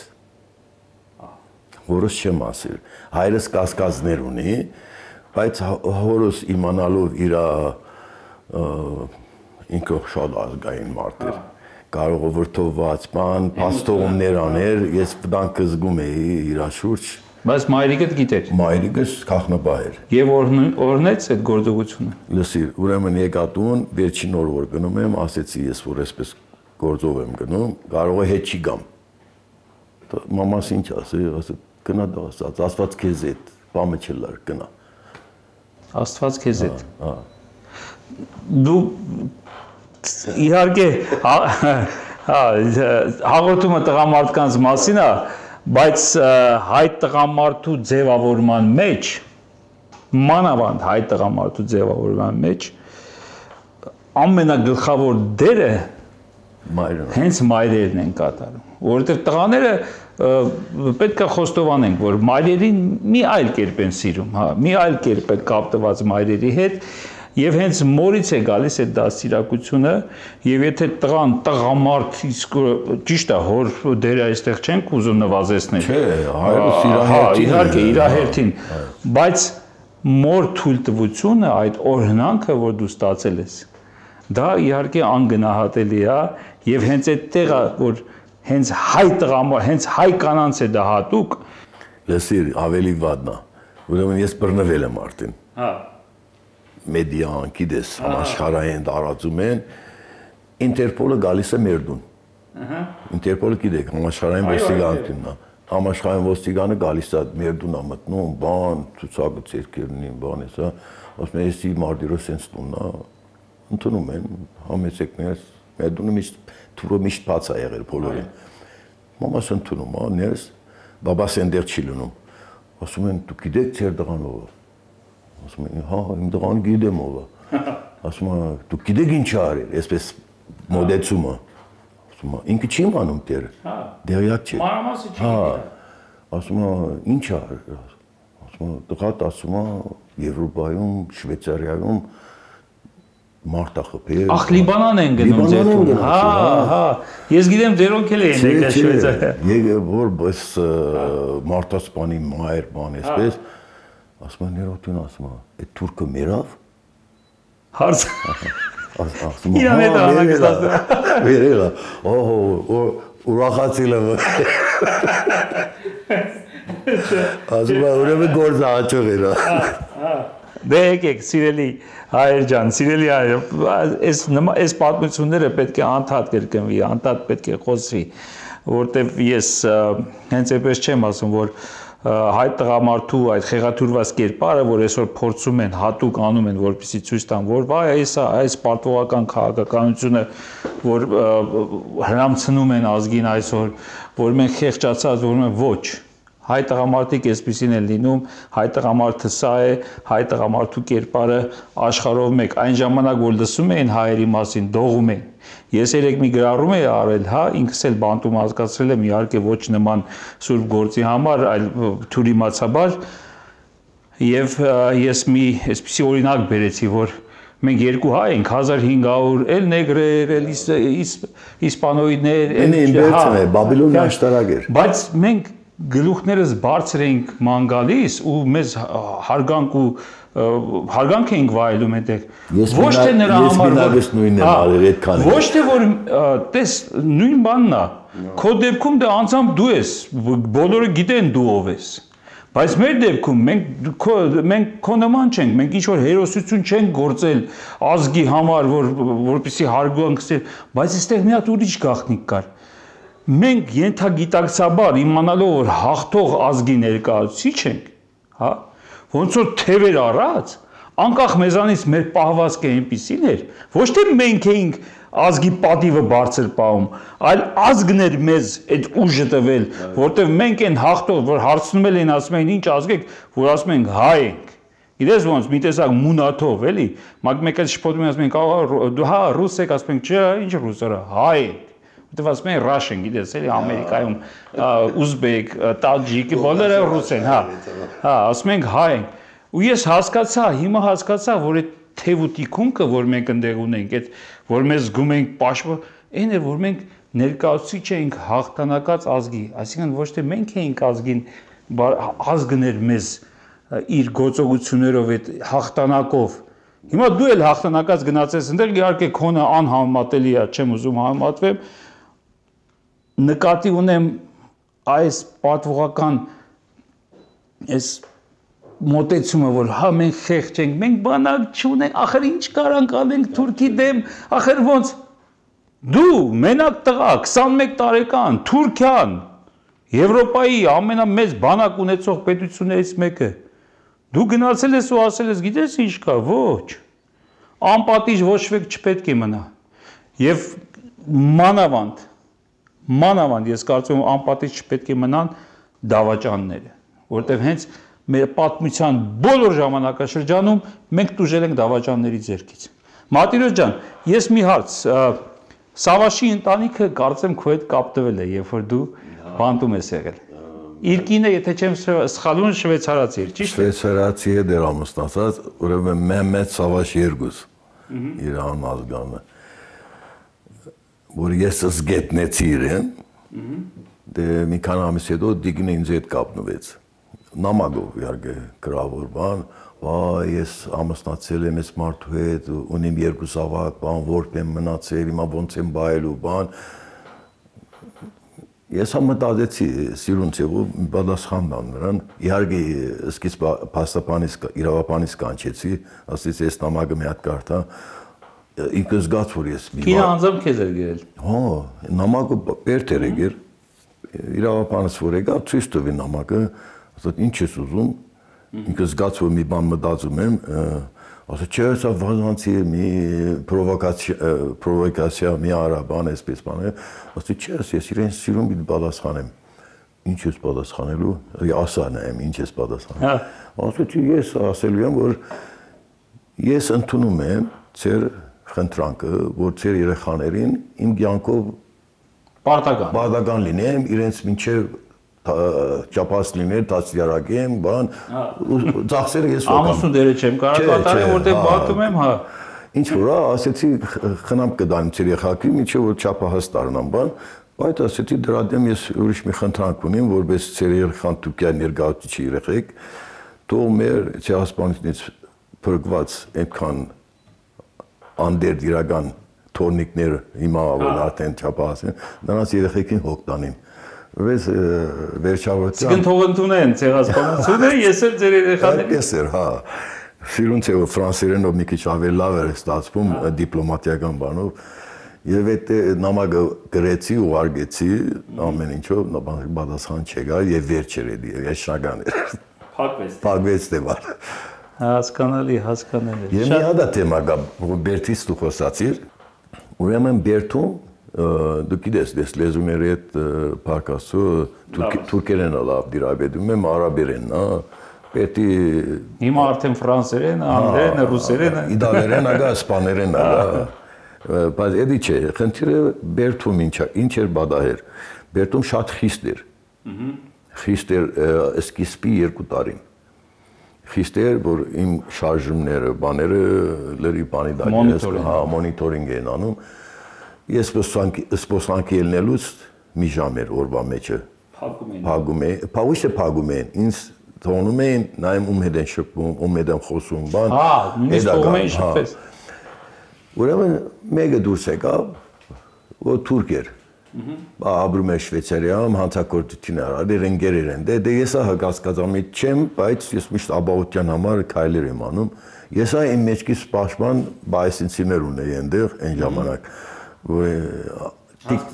հորս չեմ ասել հայրս կասկածներ ունի բայց հորս իմանալով իր ինքը շատ ազգային մարդ էր կարող վրդովված բան փաստողումներ աներ ես վտանգ զգում էի իր շուրջ բայց մայրիկդ գիտեր մայրիկս քաղնապահ էր եւ օրնեց այդ գործողությունը լսի ուրեմն եկա տուն վերջին օր որ գնում եմ ասեցի ես որ այսպես գործով եմ գնում կարող է հետ չի գամ մամաս ինչ ասի գնա աստված քեզ հետ բամը չլար գնա աստված քեզ հետ դու իհարկե հաղորդումը տղամարդկանց մասին է բայց հայ տղամարդու ձևավորման մեջ մանավանդ հայ տղամարդու ձևավորման մեջ ամենագլխավոր դերը հենց մայրերն են կատարում որովհետև տղաները պետք է խոստովանենք, որ մայրերին մի այլ կերպ են սիրում, հա, մի այլ կերպ է կապտված մայրերի հետ, եւ հենց մորից է գալիս այդ դաստիարակությունը, եւ եթե տղան տղամարդ իսկ ճիշտ է, հոր դերը այստեղ չենք ուզում նվազեցնել։ Չէ, հայրը սիրահերթին։ Իհարկե, իր հերթին, բայց մոր թույլտվությունը, այդ օրհնանքը, որ դու ստացել ես, դա իհարկե անգնահատելի է, եւ հենց այդ տեղը, որ հենց հայ տղամարդ, հենց հայ կանանց է դա հատուկ։ Լսիր, ավելի վատն է, ուրեմն ես բռնվել եմ արդեն։ Հա։ Մեդիան, գիտես, համաշխարհային տարածում են, Ինտերպոլը գալիս է մեր դուն։ Ինտերպոլը գիտեք, համաշխարհային ոստիկանությունն է։ Համաշխարհային ոստիկանը գալիս է մեր դուն է մտնում, բան, ցուցակը ցերկերնին, բան է, սա, ասում են, «Էսի Մարտիրոս sense տունն է», ընդունում են, համեցեկներ, մեր դունը միշտ թուրը միշտ բաց է եղել բոլորին։ Մամաս ընդունում, ներս, բաբաս այնտեղ չի լինում։ Ասում են, «Դուք գիտեք ձեր դղան ով է»։ Ասում են, «Հա, իմ դղան գիտեմ ով է»։ Ասում են, «Դուք գիտեք ինչ արել», այսպես մոդեցումը։ Ասում են, «Ինքը չի իմանում դերը»։ Դերյակ չի։ Մանրամասը չի։ Ասում են, «Ինչ արել»։ Ասում են, «Տղատ ասում է Եվրոպայում, Շվեյցարիայում մարտախփեր»։ Ախ, Լիբանան են գնում ձերքում։ Հա։ Ես գիտեմ ձերոնք էլ են եկել Շվեյցարիա։ Եկել որ բես մարտասպանի մայր բան այսպես։ Ասում են, «Ներոտուն ասում է, այդ թուրքը մերավ»։ Հարց։ Ասում է, Իրան հետ անակստացը։ Վերելա։ Օհո, ուրախացել եմ։ Ասում է, ուրեմն գործը հաջող էր։ Դե եկեք, սիրելի հայեր ջան, սիրելի հայեր, այս պատմությունները պետք է անդադ կրկնվի, անդադ պետք է խոսվի, որտեվ ես հենց այնպես չեմ ասում, որ հայ տղամարդու այդ խեղաթյուրված կերպարը, որ այսօր փորձում են, հատուկ անում են, որպեսզի ցույց տան, որ վայ, այս պատվողական քաղաքականությունը, որ հրամցնում են ազգին այսօր, որ մենք խեղճացած, որ մենք ոչ, հայ տղամարդիկ այսպեսին են լինում, հայ տղամարդը սա է, հայ տղամարդու կերպարը աշխարհով մեկ, այն ժամանակ, որ լսում էին հայերի մասին, դողում էին։ Ես երեք մի գրառում էի արել, հա, ինքս էլ բանտում հասկացրել եմ, իհարկե ոչ նման սուրբ գործի համար, այլ թյուրիմացաբար, եւ ես մի այսպիսի օրինակ բերեցի, որ մենք երկու հայ ենք, 1500, էլ նեգրեր, էլ իսպանոիդներ, Բաբիլոնի աշտարակ էր։ Բայց մենք գլուխներս բարձր էինք ման գալիս ու մեզ հարգանք էինք վայելում այդտեղ։ Ոչ թե նրա համար, ոչ թե որ տես նույն բանն է։ Քո դեպքում դե անձամբ դու ես, բոլորը գիտեն դու ով ես։ Բայց մեր դեպքում մենք քո նման չենք, մենք ինչ որ հերոսություն չենք գործել ազգի համար, որպեսզի հարգանք ստանանք, բայց այստեղ մի հատ ուրիշ գաղտնիք կար։ Մենք ենթագիտակցաբար իմանալով որ հաղթող ազգի ներկայացուցիչ ենք, հա, ոնց որ թևեր առած, անկախ մեզանից մեր պահվածքը այնպիսին էր, ոչ թե մենք էինք ազգի պատիվը բարձր պահում, այլ ազգն էր մեզ այդ ուժը տվել, որտեղ մենք այն հաղթող, որ հարցնում էին, ասում էին ինչ ազգ եք, որ ասում ենք հայ ենք։ Գիտես ոնց մի տեսակ մունաթով, էլի, մեկ էլ շփոթում ասում ենք, դու հա ռուս եք, ասում ենք, չէ, ինչ ռուսերը, հայ ենք։ Որտեվ ասում են Russian, գիտես, էլի Ամերիկայում ուզբեկ, տաջիկ, բոլորը ռուս են, հա։ Հա, ասում ենք հայ ենք։ Ու ես հասկացա, հիմա հասկացա, որ այդ թև ու տիկունքը, որ մենք ընդեղ ունենք, այդ որ մեզ զգում ենք պաշտպան, այն էր, որ մենք ներկայացուցիչ էինք հաղթանակած ազգի, այսինքն ոչ թե մենք էինք ազգին, ազգն էր մեզ իր գործողություններով, այդ հաղթանակով։ Հիմա դու էլ հաղթանակած գնացես ընդեղ, իհարկե քոնը անհամեմատելի է, չեմ ուզում համեմատվեմ, նկատի ունեմ այս պատվողական այս մոտեցումը, որ հա մենք խեղճ ենք, մենք բանակ չունենք, ախր ինչ կարանք անենք Թուրքի դեմ, ախր ոնց դու մենակ տղա 21 տարեկան Թուրքիան Եվրոպայի ամենամեծ բանակ ունեցող պետություններից մեկը դու գնացել ես ու ասել ես գիտես ինչ կա, ոչ անպատիժ ոչ ոք չպետք է մնա եւ մանավանդ ես կարծում եմ անպատիժ չպետք է մնան դավաճանները, որտեվ հենց մեր պատմության բոլոր ժամանակաշրջանում մենք տուժել ենք դավաճանների ձեռքից։ Մարտիրոս ջան, ես մի հարց, Սավաշի ընտանիքը կարծեմ քո հետ կապտվել է, երբ որ դու բանտում ես եղել։ Իր կինը, եթե չեմ սխալվում, շվեյցարացի էր, ճիշտ է։ Շվեյցարացի է դեր ամուսնացած, ուրեմն Մehmet Savaş Yerguz։ Իր անազգանը։ Որ ես զգետնեցի իրեն, դե մի քանի ամիս հետո Դիգնը ինձ հետ կապնվեց։ Նամակով իհարկե գրավոր բան, վայ, ես ամուսնացել եմ այս մարդու հետ, ունիմ 2 զավակ, բան, որբ եմ մնացել, հիմա ոնց եմ բայելու, բան։ Ես մտածեցի սիրունց եւ պատասխան տան նրան, իհարկե սկիզբ իրավապանից կանչեցի, ասեցի այս նամակը մի հատ կարդա, ինքը զգաց որ ես մի Կինը անձամբ քեզ էր գրել։ Հա, նամակը բերդ էր եկել, իրավապանից որ եկա, ցույց տվի նամակը, ասաց ինչ ես ուզում, ինքը զգաց որ մի բան մտածում եմ, ասաց չէ, սա վազանցի մի պրովոկացիա մի արաբան էսպես բան է, ասաց չէ, ես իրեն սիրում եմ պատասխանեմ։ Ինչ ես պատասխանելու, ասա նայեմ ինչ ես պատասխանել։ Ասաց ես ասելու եմ որ ես ընդունում եմ ձեր խնդրանքը, որ ձեր երեխաներին իմ կյանքով պարտական լինեմ, իրենց մինչև ճապաց լինել, դաստիարակեմ, բան, ծախսերը ես ոգամ։ Ամուսնու դերը չեմ կարող կատարել, որտեղ բակում եմ, հա։ Ինչ որ, ասեցի խնամ կդանեմ ձեր երեխաքի, մինչև որ ճապահաս դառնամ, բան, բայց ասեցի դրա դեմ ես ուրիշ մի խնդրանք ունեմ, որպես ձեր երեխան Թուրքիայի ներկայացուցիչ երեխեք, թող մեր ցեղասպանությունից փրկված այդքան անդերդ իրական թորնիկներ հիմա որ արդեն ճապահաս են, նրանց երեխեքին հոգ տանեմ։ Վես վերջավորության։ Իսկ թող ընդունեն ցեղասպանությունը, ես էլ ձեր երեխաներին։ Այդպես էր, հա։ Սիրունց է որ ֆրանսերենով մի քիչ ավելի լավ էր ստացվում դիպլոմատիական բանով։ Եվ այդ նամակը գրեցի ու արգեցի ամեն ինչով, պատասխան չեկար եւ վերջ էր էլի, ես շագան էր։ Փակվեց դեպա։ Հասկանալի։ Եվ մի հատ թեմա կա, որ Բերթից դու խոսացիր, ուրեմն Բերթում դու գիտես, դες լեզուների հետ փակասու թուրքերենը լավ դիրաբեդում եմ, արաբերենն, հա, պետք է հիմա արդեն ֆրանսերեն, անգլերեն, ռուսերեն, իտալերեն, ագա իսպաներեն, ագա, բայց էդի չէ, խնդիրը Բերթում ինչ էր բադահեր, Բերթում շատ խիստ էր, խիստ էր սկիզբի 2 տարին, խիստ էր, որ իմ շարժումները, բաները լրի բանի դակերես, հա, մոնիտորինգ են անում, ես սպոսանքի ելնելուց մի ժամ էր օրվա մեջը փագում էին, ոչ թե փագում էին, ինձ թողնում էին, նայեմ ում հետ են շփվում, ում հետ են խոսում, բան, նույնիսկ թողում էին շփվես։ Ուրեմն մեկը դուրս եկավ, որ թուրք էր, ապրում էր Շվեյցարիայում, հանցագործություն արել, ընկերներ են, դե ես հասկացամիտ չեմ, բայց ես միշտ ապահովության համար քայլեր եմ անում, ես իմ մեջքից պաշտպան բայսինցիներ ունեի այնտեղ այն ժամանակ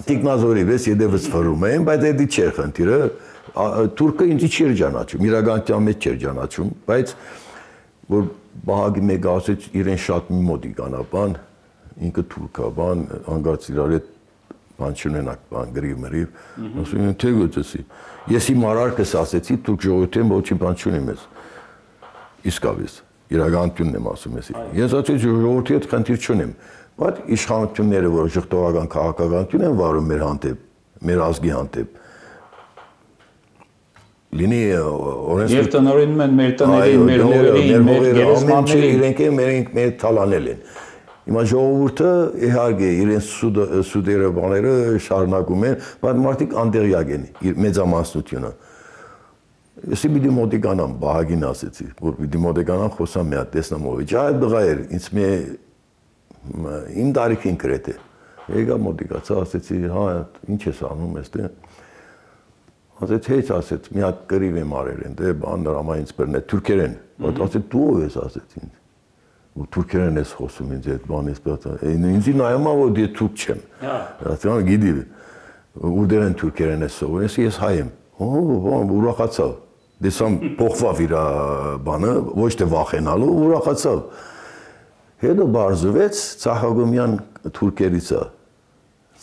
Տիկնազորի վես ետևս վրում էին, բայց էդի չէր խնդիրը, թուրքը ինձի չէր ճանաչում, իրականության մեջ չէր ճանաչում, բայց որ բահագի մեկը ասեց իրեն շատ մի մոտիկանա բան, ինքը թուրքա բան, հանգարց իրար հետ բան չունենակ բան գրիվ, ասում եմ թե գոծեցի, ես իմ արարքս ասեցի թուրք ժողովրդին ոչինչ բան չունեմ ես, իսկավես, իրականությունն եմ ասում ես, ես ասեցի ժողովրդի հետ խնդիր չունեմ, բայց իշխանությունները, որ ժխտողական քաղաքականություն են վարում մեր հանդեպ, մեր ազգի հանդեպ, լինի օրենս Եվ տնօրինում են մեր տներին, մեր հողերին, մեր գերեզմաններին, իրենք մեր թալանել են։ Հիմա ժողովուրդը իհարկե իրենց սուդերը բաները շարունակում են, բայց մարդիկ անդեղյակ են մեծամասնությունը։ Ես պիտի մոտիկանամ, Բահագին ասեցի, որ պիտի մոտիկանամ խոսամ մի հատ տեսնամ ով է։ Այդ դղա էր, ինձ իմ տարիքին գրեթե։ Եկա մոտիկացա, ասեցի, հա, ինչ ես անում այստեղ։ Ասեց, հեչ ասեց, մի հատ կռիվ եմ արել են, դե բան դրամա ինձ բռնել, թուրքերեն։ Ասեց, դու ով ես, ասեց ինձ։ Ու թուրքերեն ես խոսում ինձ այդ բան ես պատա։ Ինձի նայում ա որ դե թուրք չեմ։ Ասեցի, գիտի, ուր են թուրքերեն ես սովորում, ես հայ եմ։ Ուրախացավ։ Դեսամ փոխվավ իր բանը, ոչ թե վախենալու, ուրախացավ։ Հետո բարձվեց Ցախագոմյան թուրքերից է,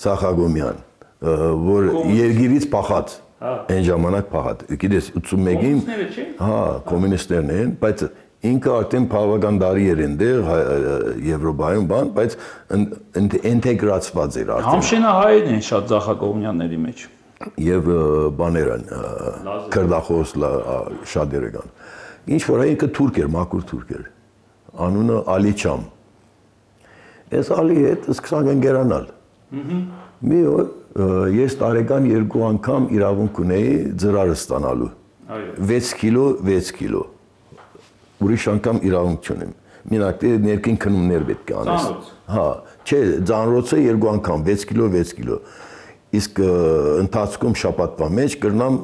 Ցախագոմյան, որ երգիրից փախած, այն ժամանակ փախած, գիտես 81-ին, հա, կոմունիստներն են, բայց ինքը արդեն բավական տարի էր այնտեղ Եվրոպայում բան, բայց ինտեգրացված էր արդեն։ Համշենահայերն են շատ ձախակողմյանների մեջ։ Եվ բաներ են, քրդախոս շատերը կան։ Ինչ որ ինքը թուրք էր, մաքուր թուրք էր։ Անունը Ալիչամ։ Այս Ալի հետ սկսանք ընկերանալ։ Մի օր ես տարեկան 2 անգամ իրավունք ունեի ծրարը ստանալու։ 6 կիլո։ Ուրիշ անգամ իրավունք չունեմ։ Մենակ ներքին քնումներ պետք է անես։ Հա, չէ, ծանրոցը 2 անգամ 6 կիլո։ Իսկ ընթացքում շաբաթվա մեջ կրնամ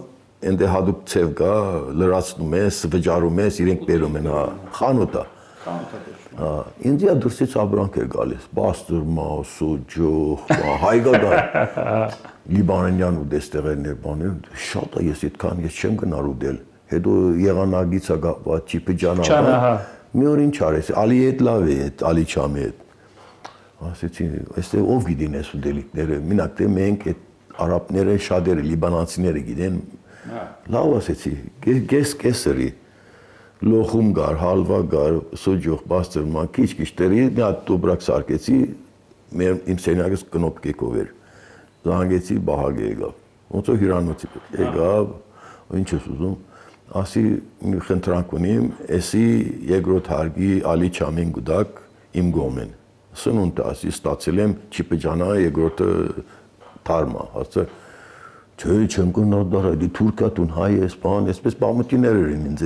այնտե հadoop ցև կա, լրացնում ես, վճարում ես, իրենք բերում են, հա, խանութա։ Հա, ինձ դուրսից ապրանք էր գալիս, բաստուրմա, սուջուխ, հայկական, լիբանանյան ու դեստեղերներ բաներ, շատ է ես այդքան ես չեմ գնար ուտել, հետո եղանագից է գապված, Չիպիջանա, մի օր ինչ արես, Ալի հետ լավ է, Ալիչամի հետ, ասեցի, այստեղ ով գիտին այս ուտելիքները, մենակ թե մենք այդ արաբները շատերը, լիբանանցիները գիտեն, լավ ասեցի, կեսրի, լոխում գար, հալվա գար, սուջուխ, բաստուրմա, քիչ տերի, մի հատ տուբրակ սարքեցի, իմ սենյակս կնոպկեկով էր, զանգեցի, Բահագ եկավ, ոնց որ հյուրանոցի եկավ, ինչ ես ուզում, ասի մի խնդրանք ունիմ, էսի երկրորդ հարգի Ալիչամին գուդակ իմ գոմեն, սնունդ ասի ստացել եմ Չիպիջանա երկրորդը թարմա, ասա, չէ, չեմ կնար դարա, դի թուրքա տուն հայ ես, բան, այսպես բամուտիներ են ինձ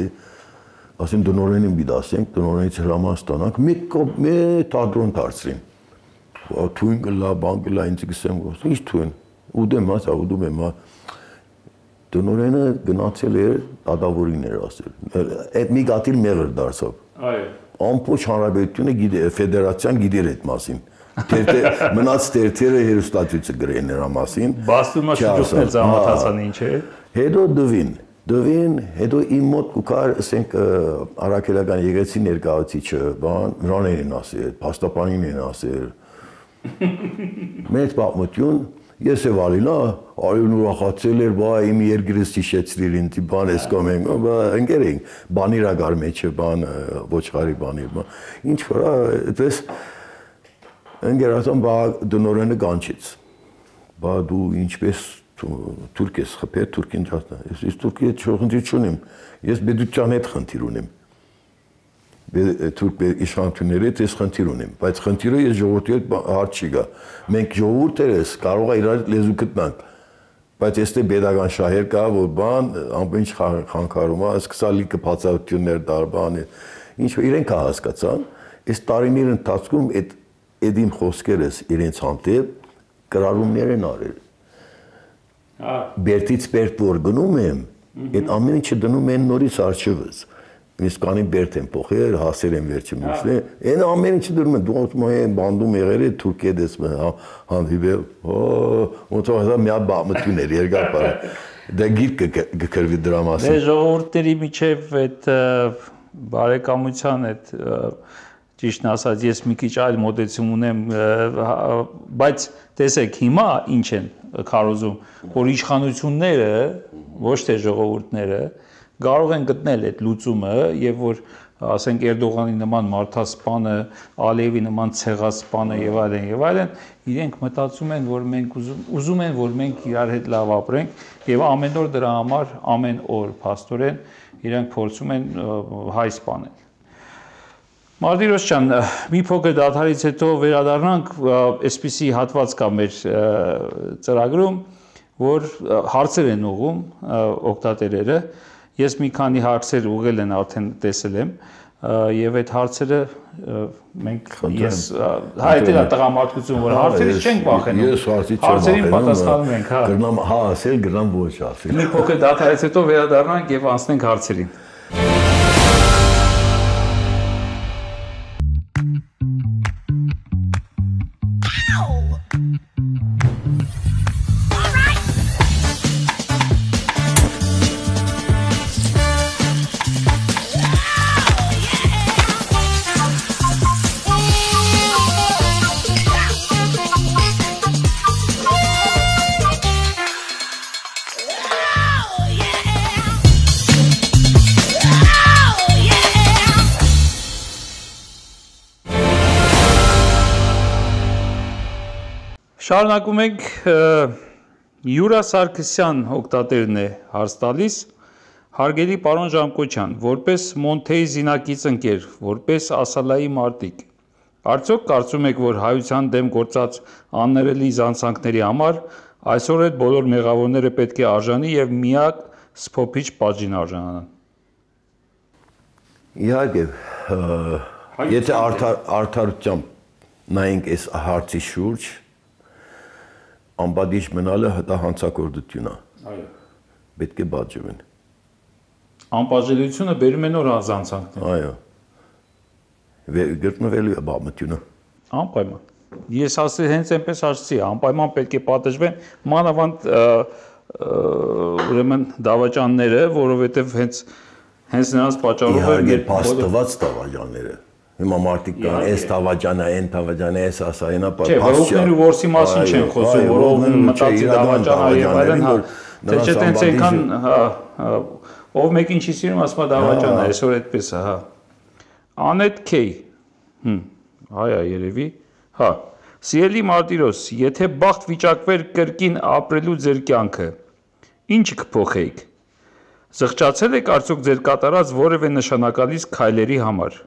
ասին դնորենին բիդասենք, դնորենից հրաման ստանանք, մի թադրոն դարձրին, թույն գլա, բան գլա, ինձ գսեմ, ինչ թույն, ուդեմ ասա, ուդում եմ, դնորենը գնացել էր, ադավորին էր ասել, այդ մի գատիլ մեղր դարձավ, ամպոչ հանրապետությունը ֆեդերացիան գիտեր այդ մասին, մնաց տերթերը հերուստացույցը գրեն նրա մասին, Բաստուրմա շուջուխն էլ զամաթացան ինչ է, հետո դվին, հետո իմ մոտ կուկար, ասենք, առաքելական եկեցի ներկայացիչը, բան, նրան են ասել, փաստաբանին են ասել, մեծ պատմություն, ես և Ալինա, Ալին ուրախացել էր, բա իմ երկրից հիշեցրիր ինձ, բան ես կոմ ենք, ընկեր ենք, բանիրագար մեջը, բան, ոչխարի բանիր, ինչ որ, այդպես, ընկերացան, բա դնորենը կանչեց, բա դու ինչպես Թուրք ես խփել, Թուրքին ճաշտա, ես Թուրքի հետ խնդիր չունեմ, ես Բեդուկյան հետ խնդիր ունեմ, Թուրք իշխանությունների հետ ես խնդիր ունեմ, բայց խնդիրը ես ժողովրդի հետ հարց չի գա, մենք ժողովուրդերս կարող է իրար լեզու գտնանք, բայց այստեղ պետական շահեր կա, որ բան, ամեն ինչ խանգարում է, սկսալ լիքը բացառություններ դար, բան, ինչ իրենք հասկացան, այս տարիների ընթացքում այդ իմ խոսքերս իրենց հանդեպ կրառումներ են արել։ Բերտից բերտ որ գնում եմ, այդ ամեն ինչը դնում են նորից արջևս, ես կանի բերտ եմ պոխել, հասեր եմ վերջը միշտ, այն ամեն ինչը դնում են, դու եմ բանդում եղեր է, թուրք հետ ես հանդիվել, ոնց որ հազա միա բամություն էր, երգապար, դա գիրք կկրվի դրա մասին։ Դե ժողովուրդների միջև այդ բարեկամության այդ ճիշտն ասած, ես մի քիչ այլ մոտեցում ունեմ, բայց տեսեք հիմա ինչ են քարոզում, որ իշխանությունները, ոչ թե ժողովուրդները, կարող են գտնել այդ լուծումը եւ որ ասենք Էրդողանի նման մարդասպանը, Ալիևի նման ցեղասպանը եւ այլն, իրենք մտածում են, որ մենք ուզում են, որ մենք իրար հետ լավ ապրենք եւ ամեն օր դրա համար, ամեն օր փաստորեն իրենք փորձում են հայ սպանել։ Մարտիրոս ջան, մի փոքր դադարից հետո վերադառնանք, այսպիսի հատված կա մեր ծրագրում, որ հարցեր են ուղում օգտատերերը, ես մի քանի հարցեր ուղղել են արդեն տեսել եմ, եւ այդ հարցերը մենք ես հայտել է տղամարդկություն, որ հարցերից չենք վախենում։ Ես հարցից չեմ վախենում։ Հարցերին պատասխանում ենք, հա։ Գրնամ հա ասել, գրնամ ոչ ասել։ Մի փոքր դադարից հետո վերադառնանք եւ անցնենք հարցերին։ Շարունակում ենք Յուրա Սարգսյան օգտատերն է հարց տալիս. Հարգելի պարոն Ժամկոչյան, որպես Մոնթեի զինակից ընկեր, որպես Ասալայի մարտիկ, արդյոք կարծում եք, որ հայության դեմ գործած աններելի զանցանքների համար այսօր այդ բոլոր մեղավորները պետք է արժանի եւ միակ սփոփիչ պատժին արժանանան։ Իհարկե, եթե արդարությամբ նայենք այս հարցի շուրջ, անպատիժ մնալը դա հանցագործություն է։ Այո։ Պետք է պատժվեն։ Անպատժելիությունը բերում է նոր զանցանքներ։ Այո։ Գտնվելու է բամությունը։ Անպայման։ Ես ասել հենց այնպես ասացի, անպայման պետք է պատժվեն մանավանդ ուրեմն դավաճանները, որովհետև հենց նրանց պատճառով է փաստված դավաճանները։ Հիմա մարդիկ կան, այս դավաճանը, այն դավաճանը, այս ասայինա պատժ։ Չէ, որովհետև որսի մասին չեն խոսում, որով մտածի դավաճանը եւ այլն, թե չէ տենց այնքան, ով մեկին չի սիրում, ասում է դավաճանը, այսօր այդպես է, հա։ Անետ Քեյ։ Հայա երևի։ Հա։ Սիրելի Մարտիրոս, եթե բախտ վիճակվեր կրկին ապրելու ձեր կյանքը, ինչ կփոխեիք։ Զղջացել եք արդյոք ձեր կատարած որևէ նշանակալից քայլերի համար։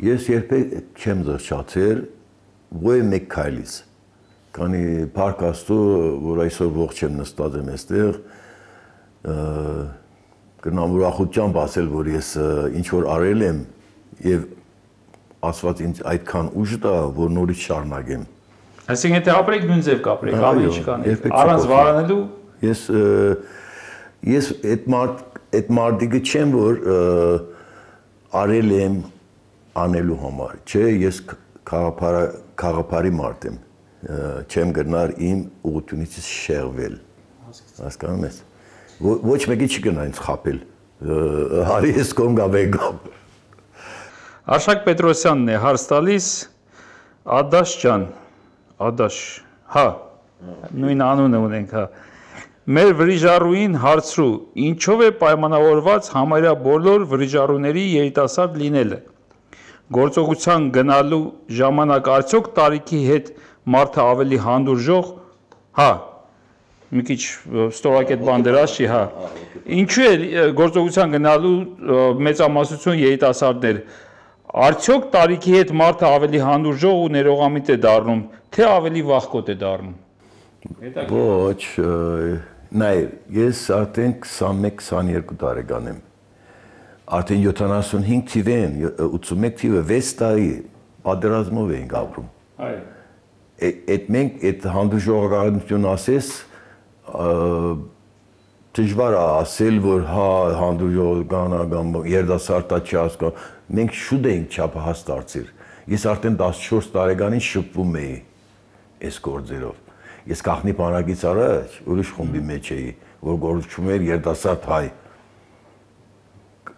Ես երբեք չեմ զղջացել ոչ մեկ քայլից։ Քանի Փառք Աստծո, որ այսօր ողջ եմ նստած եմ այստեղ, կնամ ուրախությամբ ասել, որ ես ինչ որ արել եմ եւ ասված ինձ այդքան ուժ տա, որ նորից շարունակեմ։ Այսինքն եթե ապրեք նույն ձև կապրեք, ավելի չկանեք, առանց վարանելու։ Ես այդ մարդիկը չեմ, որ արել եմ անելու համար, չէ, ես խաղապարի մարդ եմ, չեմ գնար իմ ուղղությունից շեղվել, հասկանում ես, ոչ մեկի չի գնա ինձ խապել, հարի ես կոմ գավեկ գամ։ Արշակ Պետրոսյանն է հարց տալիս, Ադաշ ջան, Ադաշ, հա, նույն անունը ունենք, հա, մեր վրիժառուին հարցրու, ինչով է պայմանավորված համարյա բոլոր վրիժառուների երիտասարդ լինելը, գործողության գնալու ժամանակ արդյոք տարիքի հետ մարդը ավելի հանդուրժող, հա, մի քիչ ստորակետ բան դրած չի, հա, ինչու է գործողության գնալու մեծամասնություն երիտասարդներ, արդյոք տարիքի հետ մարդը ավելի հանդուրժող ու ներողամիտ է դառնում, թե ավելի վախկոտ է դառնում։ Ոչ, նայ, ես արդեն 21-22 տարեկան եմ, արդեն 75 թիվեն, 81 թիվը 6 տարի պատերազմով էինք ապրում։ Այդ մենք այդ հանդուրժողականություն ասես, դժվար է ասել, որ հա հանդուրժողական երիտասարդա չի հասկանում, մենք շուտ էինք չափահաս դարձել։ Ես արդեն 14 տարեկանին շփվում էի այս գործերով։ Ես գաղտնի բանակից առաջ ուրիշ խումբի մեջ էի, որ գործում էր երիտասարդ հայ։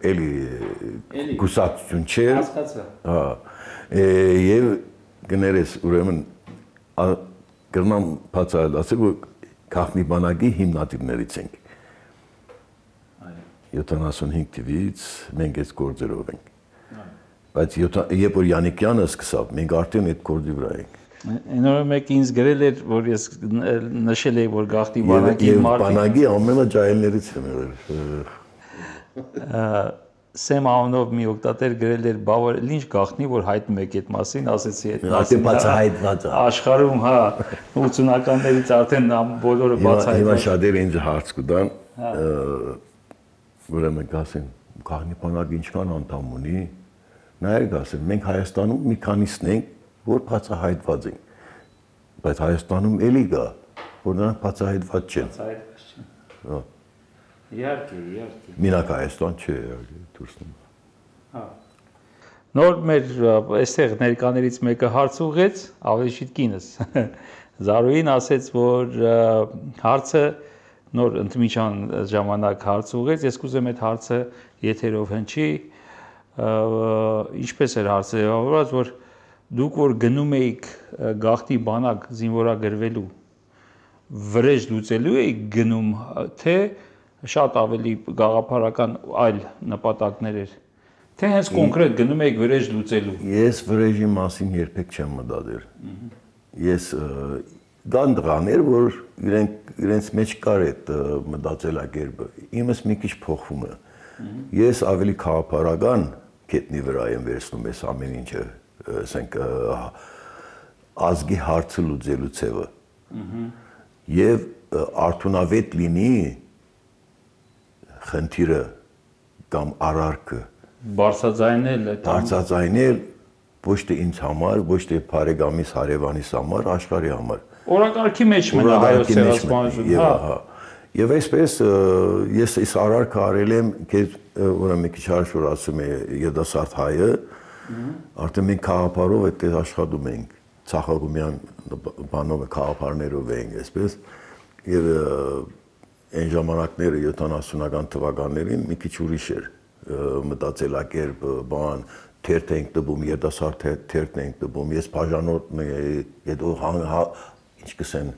Էլի գուսակցություն չէր։ Հա։ Եվ գներես ուրեմն կրնամ բացահայտ ասել, որ գաղտնի բանակի հիմնադիրներից ենք։ 75 թվից մենք այս գործերով ենք։ Բայց երբ որ Յանիկյանը սկսավ, մենք արդեն այդ գործի վրա ենք։ Այն օրը մեկ ինձ գրել էր, որ ես նշել եի, որ գաղտնի բանակի մարդիկ։ Բանակի ամենաջահելներից եմ եղել։ Սեմ անունով մի օգտատեր գրել էր, բա որ ինչ գաղտնի, որ հայտնում եք այդ մասին, ասեցի այդ մասին։ Բացահայտված է։ Աշխարհում, հա, 80-ականներից արդեն բոլորը բացահայտված։ Հիմա շատերը ինձ հարց կտան, ուրեմն կասեն, գաղտնի բանակը ինչքան անդամ ունի, նայեք ասեմ, մենք Հայաստանում մի քանիսն ենք, որ բացահայտված ենք, բայց Հայաստանում էլի կա, որ նրանք բացահայտված չեն։ Բացահայտված չեն։ Իհարկե։ Մինակ Հայաստան չէ, դուրսն։ Հա։ Նոր մեր այստեղ ներկաներից մեկը հարց ուղեց, ավելի շուտ կինս։ Զարուհին ասեց, որ հարցը նոր ընդմիջան ժամանակ հարց ուղեց, ես կուզեմ այդ հարցը եթերով հնչի, ինչպես էր հարցը ձևավորված, որ դուք որ գնում էիք գաղտնի բանակ զինվորագրվելու, վրեժ լուծելու էիք գնում, թե շատ ավելի գաղափարական այլ նպատակներ էր, թե հենց կոնկրետ գնում էիք վրեժ լուծելու։ Ես վրեժի մասին երբեք չեմ մտածել։ Ես կան դղաներ, որ իրենց մեջ կար այդ մտածելակերպը։ Իմս մի քիչ փոխվում է։ Ես ավելի քաղաքական կետնի վրա եմ վերցնում այս ամեն ինչը, ասենք ազգի հարցը լուծելու ցևը։ Եվ արդյունավետ լինի խնդիրը կամ արարքը բարձրաձայնել ոչ թե ինձ համար, ոչ թե բարեկամիս հարևանիս համար, աշխարհի համար։ Օրակարգի մեջ մնա հայոց ցեղասպանությունը, հա։ Եվ այսպես ես այս արարքը արել եմ, ուրեմն մի քիչ հաշվոր ասում է երիտասարդ հայը, արդեն մենք քաղաքարով այդպես աշխատում ենք, ցախագումյան բանով քաղաքարներով ենք, այսպես, եւ այն ժամանակները 70-ական թվականներին մի քիչ ուրիշ էր մտածելակերպ, բան, թերթ ենք տպում, երիտասարդ թերթ ենք տպում, ես բաժանորդն էի, հետո ինչ կսեն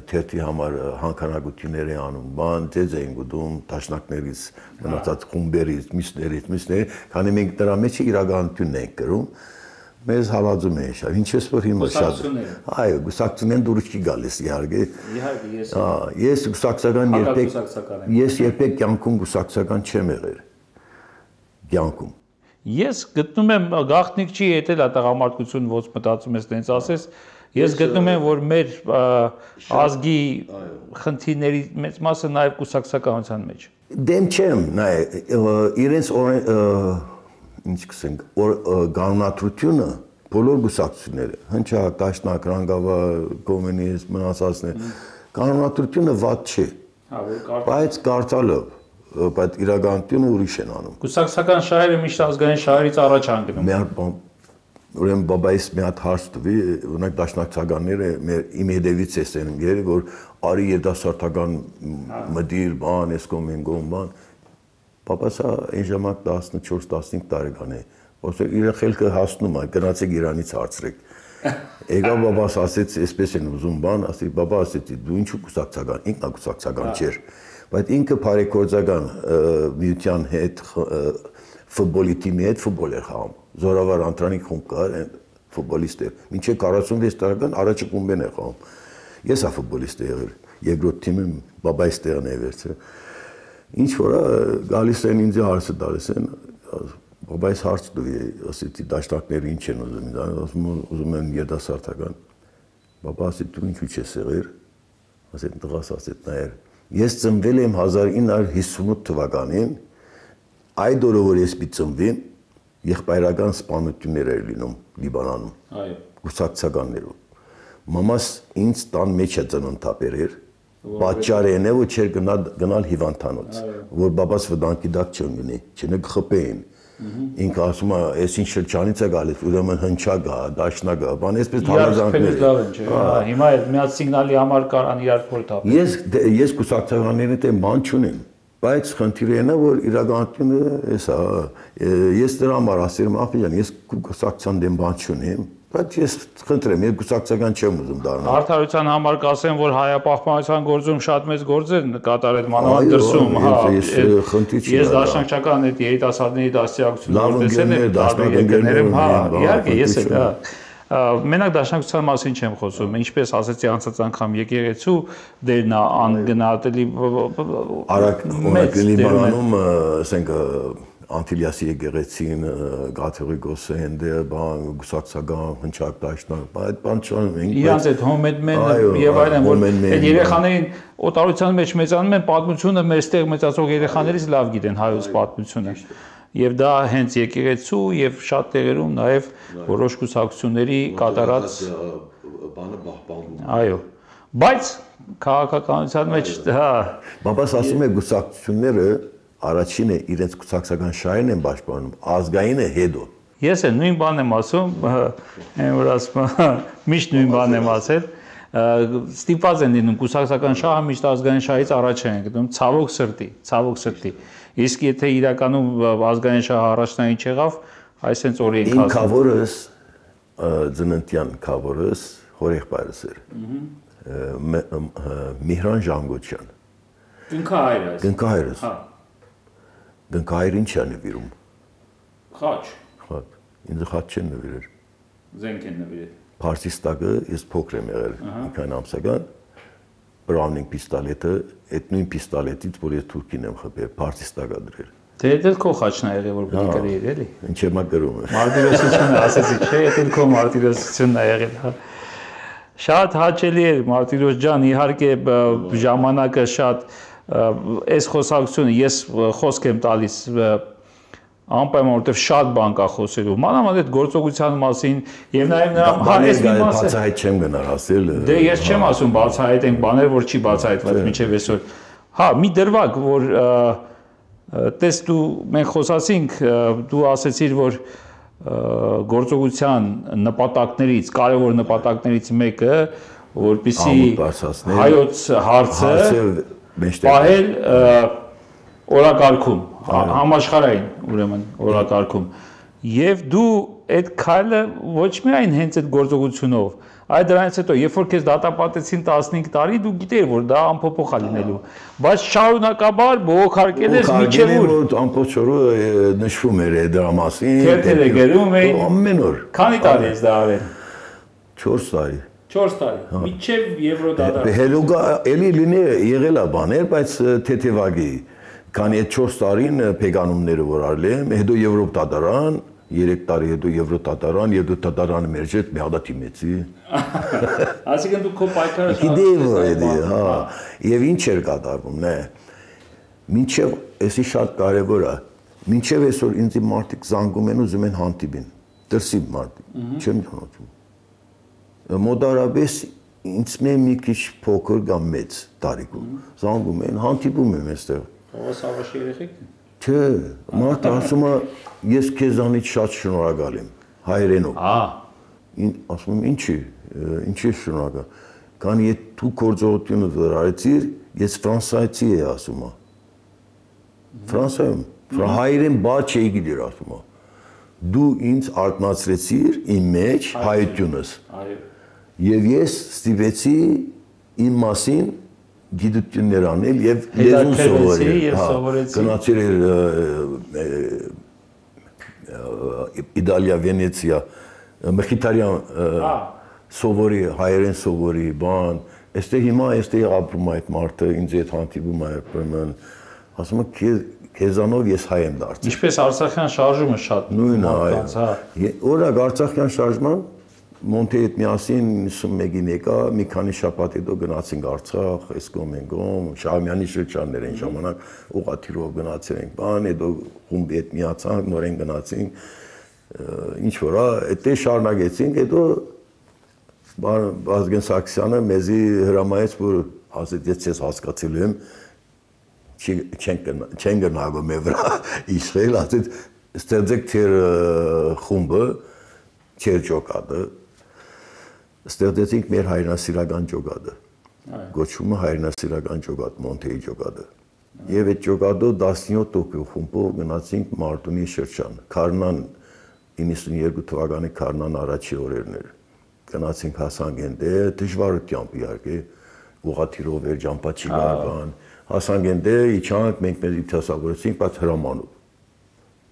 թերթի համար հանքանակություններ է անում, բան, ձեզ էին գտում տաշնակներից, մնացած խումբերից, մյուսներից, քանի մենք դրա մեջ իրականությունն ենք կրում, մեզ հալածում էին շատ, ինչպես որ հիմա շատ։ Այո, գուսակցությունն դուրս չի գալիս իհարկե։ Ես գուսակցական երբեք կյանքում գուսակցական չեմ եղել։ Կյանքում։ Ես գտնում եմ գաղտնիք չի ետել տղամարդկություն ոնց մտածում ես տենց ասես, ես գտնում եմ որ մեր ազգի խնդիրների մեծ մասը նաև կուսակցականության մեջ։ Դեմ չեմ, իրենց ինչ կսենք, գանունատրությունը բոլոր գուսակցությունները, հնչակ, դաշնակ, ռանգավար, կոմունիստ, մնացածներ, գանունատրությունը վատ չի, բայց կարծալով, բայց իրականությունը ուրիշ են անում։ Կուսակցական շահերը միշտ ազգային շահերից առաջ են գնում։ Ուրեմն բաբայիս մի հատ հարց տվի, օրինակ դաշնակցականները իմ հետևից են եկել, որ արի երիտասարդական մտիր, բան, էս կողմեն բան։ Պապաս այն ժամանակ 14-15 տարեկան է, ոսր իր խելքը հասնում է, գնացեք Իրանից հարցրեք։ Եկավ բաբաս ասեց, այսպես են ուզում բան, ասի բաբա ասեց, դու ինչու կուսակցական, ինքնակուսակցական չէր, բայց ինքը բարեգործական միության հետ, ֆուտբոլի թիմի հետ ֆուտբոլ էր խաղում, Զորավար Անտրանիկ խումբ կար, ֆուտբոլիստ էր, մինչև 46 տարեկան առաջը խումբեն է խաղում։ Ես ա ֆուտբոլիստ եղել, երկրորդ թիմը բաբայիս տեղն է վերցրել։ Ինչ որ գալիս են ինձ հարցը տալիս են, բաբայիս հարց տուի, ասեցի դաշնակները ինչ են ուզում, ուզում են երիտասարդական։ Բաբա ասեց դու ինչու չես եղել, ասեց տղաս ասեց նայեր, ես ծնվել եմ 1958 թվականին, այդ օրը որ ես պիտի ծնվեմ, եղբայրական սպանություններ էր լինում Լիբանանում, կուսակցականներով։ Մամաս ինձ տան մեջ է ծննդապեր էր, պատճառն է, որ չէր գնալ հիվանդանոց, որ բաբաս վտանգի դակ չընկնի, չնկխփեին։ Ինքը ասում է, այս ինչ շրջանից է գալիս, ուրեմն հնչակ է, դաշնակ է, բան, այսպես հարազանքներ են։ Հիմա այդ միած սիգնալի համար կարան իրար փոլ թափել։ Ես կուսակցականների հետ բան չունեմ, բայց խնդիրը նա որ իրականությունը էսա, ես դրա համար ասում եմ, ախի ջան, ես կուսակցության դեմ բան չունեմ, բայց ես խնդրեմ, ես կուսակցական չեմ ուզում դառնալ։ Արդարության համար կասեմ, որ հայապահպանության գործում շատ մեծ գործեր կատարել մանավանդ դրսում, հա։ Ես դաշնակցական այդ երիտասարդների դաստիարակությունը տեսել եմ, դաշնակցություններում, հա, իհարկե, ես էլ, հա։ Մենակ դաշնակցության մասին չեմ խոսում, ինչպես ասեցի անցած անգամ եկեղեցու դերն է անգնահատելի Լիբանանում, ասենք Անտիլիասի եկեղեցին, կաթողիկոսը հենդե, բան, գուսակցական, հնչակ դաշնակ, այդ բան չանում ենք։ Իրանց այդ հոմեդմենը եւ այլն, որ այդ երեխաներին օտարության մեջ մեծանում են, պատմությունը մեստեղ մեծացող երեխաներից լավ գիտեն հայոց պատմությունը։ Եվ դա հենց եկեղեցու եւ շատ տեղերում նաեւ որոշ կուսակցությունների կատարած բանը պահպանվում։ Այո։ Բայց քաղաքականության մեջ, հա, բաբաս ասում է գուսակցությունները առաջինը իրենց կուսակցական շահերն են պաշտպանում, ազգայինը հետո։ Ես էլ նույն բանն եմ ասում, այն որ ասում միշտ նույն բանն եմ ասել, ստիպված են լինում կուսակցական շահը միշտ ազգային շահից առաջ են գտնում, ցավոք սրտի։ Իսկ եթե իրականում ազգային շահը առաջնային չեղավ, այսպես օրի ենք ասում։ Ինքավորս ծննդյան քավորս հորեղբայրս էր։ Միհրան Ժանգոչյան։ Գնքահայրս։ Գնքահայրս։ Հա։ Գնքահայրին չի նվիրում։ Խաչ։ Խաչ։ Ինձ խաչ չեն նվիրել։ Զենք են նվիրել։ Փարսիստակը ես փոքր եմ եղել, մի քանի ամսական, Browning պիստոլետը, այդ նույն պիստոլետից, որ ես թուրքին եմ խփել, Փարսիստակա դրել։ Դե դա քո խաչն ա եղել, որ պիտի գրեիր, էլի։ Ինչ եմ գրում։ Մարտիրոսությունը ասեցի, չէ, դա քո մարտիրոսությունն ա եղել, հա։ Շատ հաճելի էր Մարտիրոս ջան, իհարկե ժամանակը շատ այս խոսակցությունը ես խոսք եմ տալիս անպայման որտեվ շատ բան կա խոսելու մանավանդ այդ գործողության մասին եւ նաեւ նրա այս մի մասը բացահայտ չեմ գնալ ասել դե ես չեմ ասում բացահայտենք բաներ որ չի բացահայտված մինչեւ այսօր հա մի դրվագ որ տես դու մենք խոսացինք դու ասեցիր որ գործողության նպատակներից կարևոր նպատակներից մեկը որպեսզի հայոց հարցը պահել օրակարգում համաշխարհային ուրեմն օրակարգում եւ դու այդ քայլը ոչ միայն հենց այդ գործողությունով այլ դրանից հետո երբ որ քեզ դատապարտեցին 15 տարի դու գիտեիր որ դա անփոփոխ է լինելու բայց շարունակաբար բողոքարկել ես միջև որ ամբողջ օրը նշվում էր դրա մասին թերթերը գրում էին ամեն օր քանի տարի ես դա արել 4 տարի 4 տարի միջև եվրոդադար հելուգա էլի լինի եղել է բաներ բայց թեթևագի քանի այդ 4 տարին փեգանումները որ արել եմ հետո Եվրոպ դատարան 3 տարի հետո Եվրոպ դատարան եւ դու դատարանը մեր հետ մի հատ իմեցի ասիկն դու քո պայքարը գիտեի հա եւ ինչ էր կատարվում նե մինչեւ էսի շատ կարեւոր է մինչեւ այսօր ինձ մարդիկ զանգում են ուզում են հանդիպին դրսի մարդիկ չեմ ճանաչում մոդարաբես ինձ մի քիչ փոքր կամ մեծ տարիքում զանգում են հանդիպում եմ այստեղ Սավաշի երեխեքն Չէ, մարդը ասում է ես քեզանից շատ շնորհակալ եմ հայերենով։ Ասում եմ ինչի շնորհակալ։ Քանի եթե դու գործողությունը դեռ արեցիր, ես ֆրանսիացի եմ ասում եմ։ Ֆրանսիայում հայերեն բաց չէի գիտեր ասում եմ։ Դու ինձ արտնացրեցիր իմ մեջ հայությունս։ Այո։ Եվ ես ստիպեցի իմ մասին գիտություններ անել եւ լեզուն սովորել, գնացել Իտալիա, Վենեցիա, Մխիթարյան սովորի, հայերեն սովորի, բան, այստեղ հիմա այստեղ ապրում է այդ մարդը, ինձ հետ հանդիպում է, ուրեմն ասում է քեզանով ես հայ եմ դարձել։ Ինչպես Արցախյան շարժումը շատ նույնն է, օրինակ Արցախյան շարժման Մոնտեի հետ միասին 91-ին եկա, մի քանի շաբաթ հետո գնացինք Արցախ, Էսկոմենգոմ, Շահումյանի շրջաններ այն ժամանակ ուղղաթիռով գնացել ենք, բան, հետո խումբի հետ միացանք, նորեն գնացինք, ինչ որ, այդտեղ շարունակեցինք, հետո Վազգեն Սարգսյանը մեզի հրամայեց, որ ասեց, ես ցես հասկացել եմ, չեն գնալու մեր վրա իշխել, ասեց, ստեղծեք թեր խումբը, չեր ջոկատը ստեղծեցինք մեր հայրենասիրական ջոկատը գոչվում է հայրենասիրական ջոկատ Մոնտեի ջոկատը եւ այդ ջոկատով 17 տոկյո խումբով գնացինք Մարտունի շրջան Քարնան 92 թվականի Քարնան առաջի օրերն էր գնացինք հասանք այնտեղ դժվարությամբ իհարկե ուղղաթիռով էր ջամփաչի գարան հասանք այնտեղ իջանք մենք մեզ իթասավորեցինք բայց հրամանով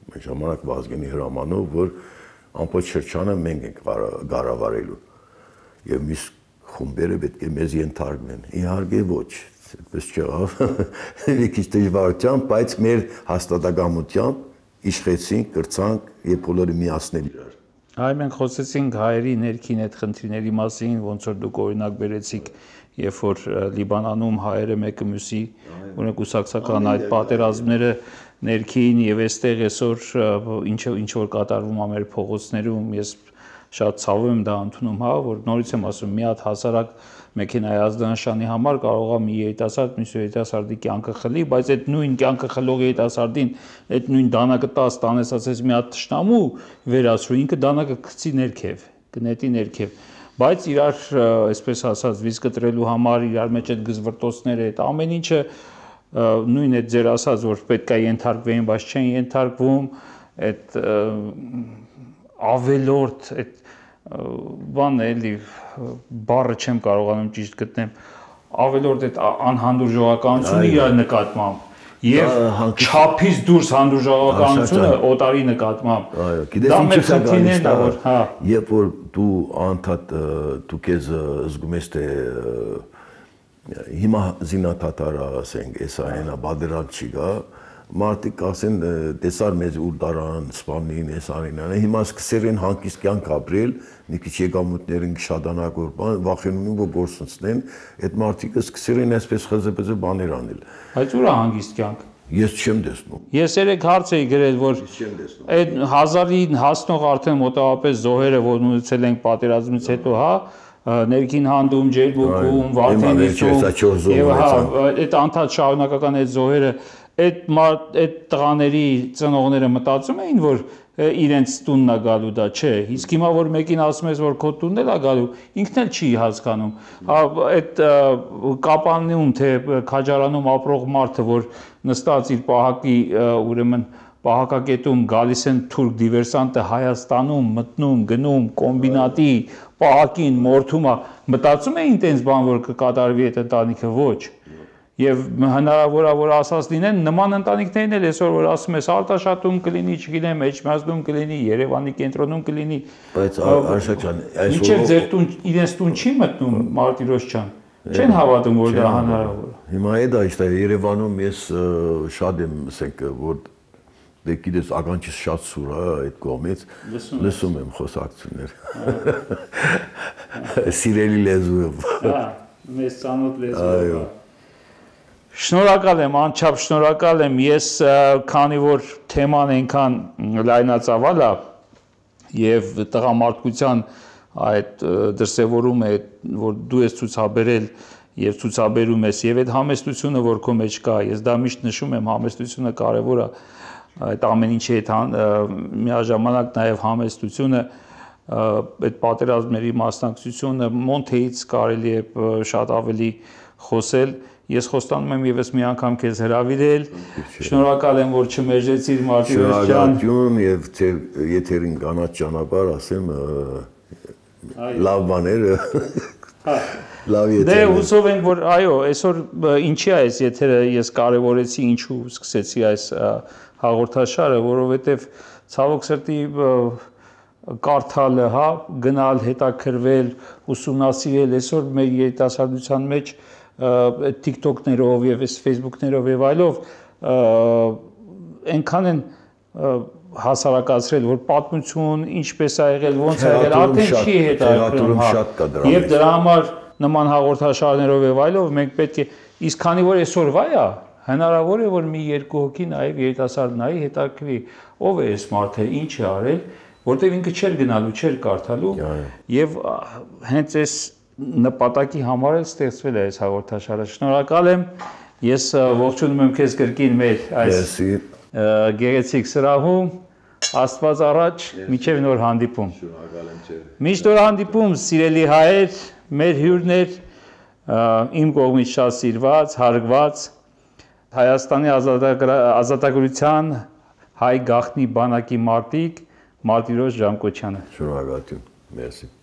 մեր ժամանակ Վազգենի հրամանով որ ամբողջ շրջանը մենք ենք գարավարելու եւ միս խումբերը պետք է մեզ ենթարկվեն իհարկե ոչ այդպես չեղավ մի քիչ դժվարությամբ բայց մեր հաստատակամությամբ իշխեցինք կրծանք եւ բոլորը միացնել իրար այ մենք խոսեցինք հայերի ներքին այդ խնդիրների մասին ոնց որ դուք օրինակ բերեցիք երբ որ Լիբանանում հայերը մեկը մյուսի օրինակ ուսակցական այդ պատերազմները ներքին եւ այստեղ այսօր ինչ որ կատարվում է մեր փողոցներում ես շատ ցավում եմ դա ընդունում հա որ նորից եմ ասում մի հատ հասարակ մեքենայի ազդանշանի համար կարող է մի երիտասարդ մյուս երիտասարդի կյանքը խլի բայց այդ նույն կյանքը խլող երիտասարդին այդ նույն դանակը 10 տանես ասես մի հատ թշնամու վերացրու ինքը դանակը գցի ներքև գնետի ներքև բայց իրար այսպես ասած վիզ կտրելու համար իրար մեջ այդ գզվրտոցները այդ ամեն ինչը նույն այդ ձեր ասած որ պետք է ենթարկվեին բայց չեն ենթարկվում այդ ավելորդ այդ բան էլի բառը չեմ կարողանում ճիշտ գտնեմ ավելորդ այդ անհանդուրժողականությունը իր նկատմամբ եւ չափից դուրս հանդուրժողականությունը օտարի նկատմամբ։ Այո, գիտես ինչ է գալիս, երբ որ դու անդադ դու քեզ զգում ես թե հիմա զինաթաթարը ասենք, էսա այնա բادرան չի գա, մարդիկ ասեն տեսար մեզ ուր դարան սպանին, էսանին, հիմա սկսել են հանգիստ կյանք ապրել, մի քիչ եկամուտներին շատանակ որ բան, վախենում են որ գործունեեն, այդ մարդիկը սկսել են այսպես խզեբեզե բաներ անել։ Բայց ուր է հանգիստ կյանք։ Ես չեմ տեսնում։ Ես երեք հարց էի գրել, որ այդ 1000-ին հասնող արդեն մոտավորապես զոհերը, որ ունեցել ենք պատերազմից հետո, հա, ներքին հանդում, ջերբուկում, Վարդենիցում, եւ հա, այդ անդադ շարունակական այդ զոհերը, այդ տղաների ծնողները մտածում էին, որ իրենց տունն է գալու դա, չէ, իսկ հիմա որ մեկին ասում ես, որ քո տունն էլ է գալու, ինքն էլ չի հասկանում, այդ կապանում, թե քաջարանում ապրող մարդը, որ նստած իր պահակի, ուրեմն պահակակետում գալիս են թուրք դիվերսանտը Հայաստանում, մտնում, գնում, կոմբինատի, պահակին, մորթում է, մտածում էին տենց բան, որ կկատարվի այդ ընտանիքը, ոչ։ Եվ հնարավոր է որ ասած լինեն նման ընտանիքներն էլ այսօր որ ասում ես Արտաշատում կլինի, չգիտեմ, Էջմիածնում կլինի, Երևանի կենտրոնում կլինի։ Բայց Արշակ ջան, այսօր մինչև ձեր տուն իրենց տուն չի մտնում Մարտիրոս ջան։ Չեն հավատում որ դա հնարավոր է։ Հիմա այդ այստեղ Երևանում ես շատ եմ, ասենք, որ դե գիտես ականջիս շատ սուր է այդ կողմից, լսում եմ խոսակցություններ։ Սիրելի լեզուով։ Հա, մեծ ծանոթ լեզուով։ Շնորհակալ եմ, անչափ շնորհակալ եմ, ես քանի որ թեման այնքան լայնածավալ է եւ տղամարդկության այդ դրսևորումը, որ դու ես ցուցաբերել եւ ցուցաբերում ես եւ այդ համեստությունը, որ քո մեջ կա, ես դա միշտ նշում եմ, համեստությունը կարեւոր է, այդ ամեն ինչի հետ միաժամանակ նաեւ համեստությունը, այդ պատերազմների մասնակցությունը Մոնթեից կարելի է շատ ավելի խոսել։ Ես խոստանում եմ եւս մի անգամ քեզ հրավիրել։ Շնորհակալ եմ, որ չմերժեցիր Մարտիրոս ջան։ Շնորհակալություն եւ թե եթերին կանաչ ճանապարհ ասեմ լավ բաներ։ Լավ եթեր։ Դե հուսով ենք, որ այո, այսօր ինչի է այս եթերը ես կարևորեցի, ինչու սկսեցի այս հաղորդաշարը, որովհետեւ ցավոք սրտի կարդալը, հա, գնալ, հետաքրվել, ուսումնասիրել, այսօր մեր երիտասարդության մեջ TikTok-ներով եւ Facebook-ներով եւ այլով այնքան են հասարակացրել, որ պատմություն ինչպես է եղել, ոնց է եղել, արդեն չի հետաքրքրում, եւ դրա համար նման հաղորդաշարներով եւ այլով մենք պետք է, իսկ քանի որ այսօրվա է, հնարավոր է որ մի երկու հոգի նաեւ երիտասարդ նայի հետաքրքրի, ով է այս մարդը, ինչ է արել, որտեղ ինքը չէր գնալու, չէր կարդալու եւ հենց այս նպատակի համար էլ ստեղծվել է այս հաղորդաշարը։ Շնորհակալ եմ։ Ես ողջունում եմ քեզ կրկին մեր այս գեղեցիկ սրահում։ Աստված առաջ, մինչև նոր հանդիպում։ Շնորհակալ եմ ձեզ։ Մինչ նոր հանդիպում, սիրելի հայեր, մեր հյուրներ, իմ կողմից շատ սիրված, հարգված Հայաստանի ազատագրության հայ գաղտնի բանակի մարտիկ Մարտիրոս Ժամկոչյանը։ Շնորհակալություն։ Մերսի։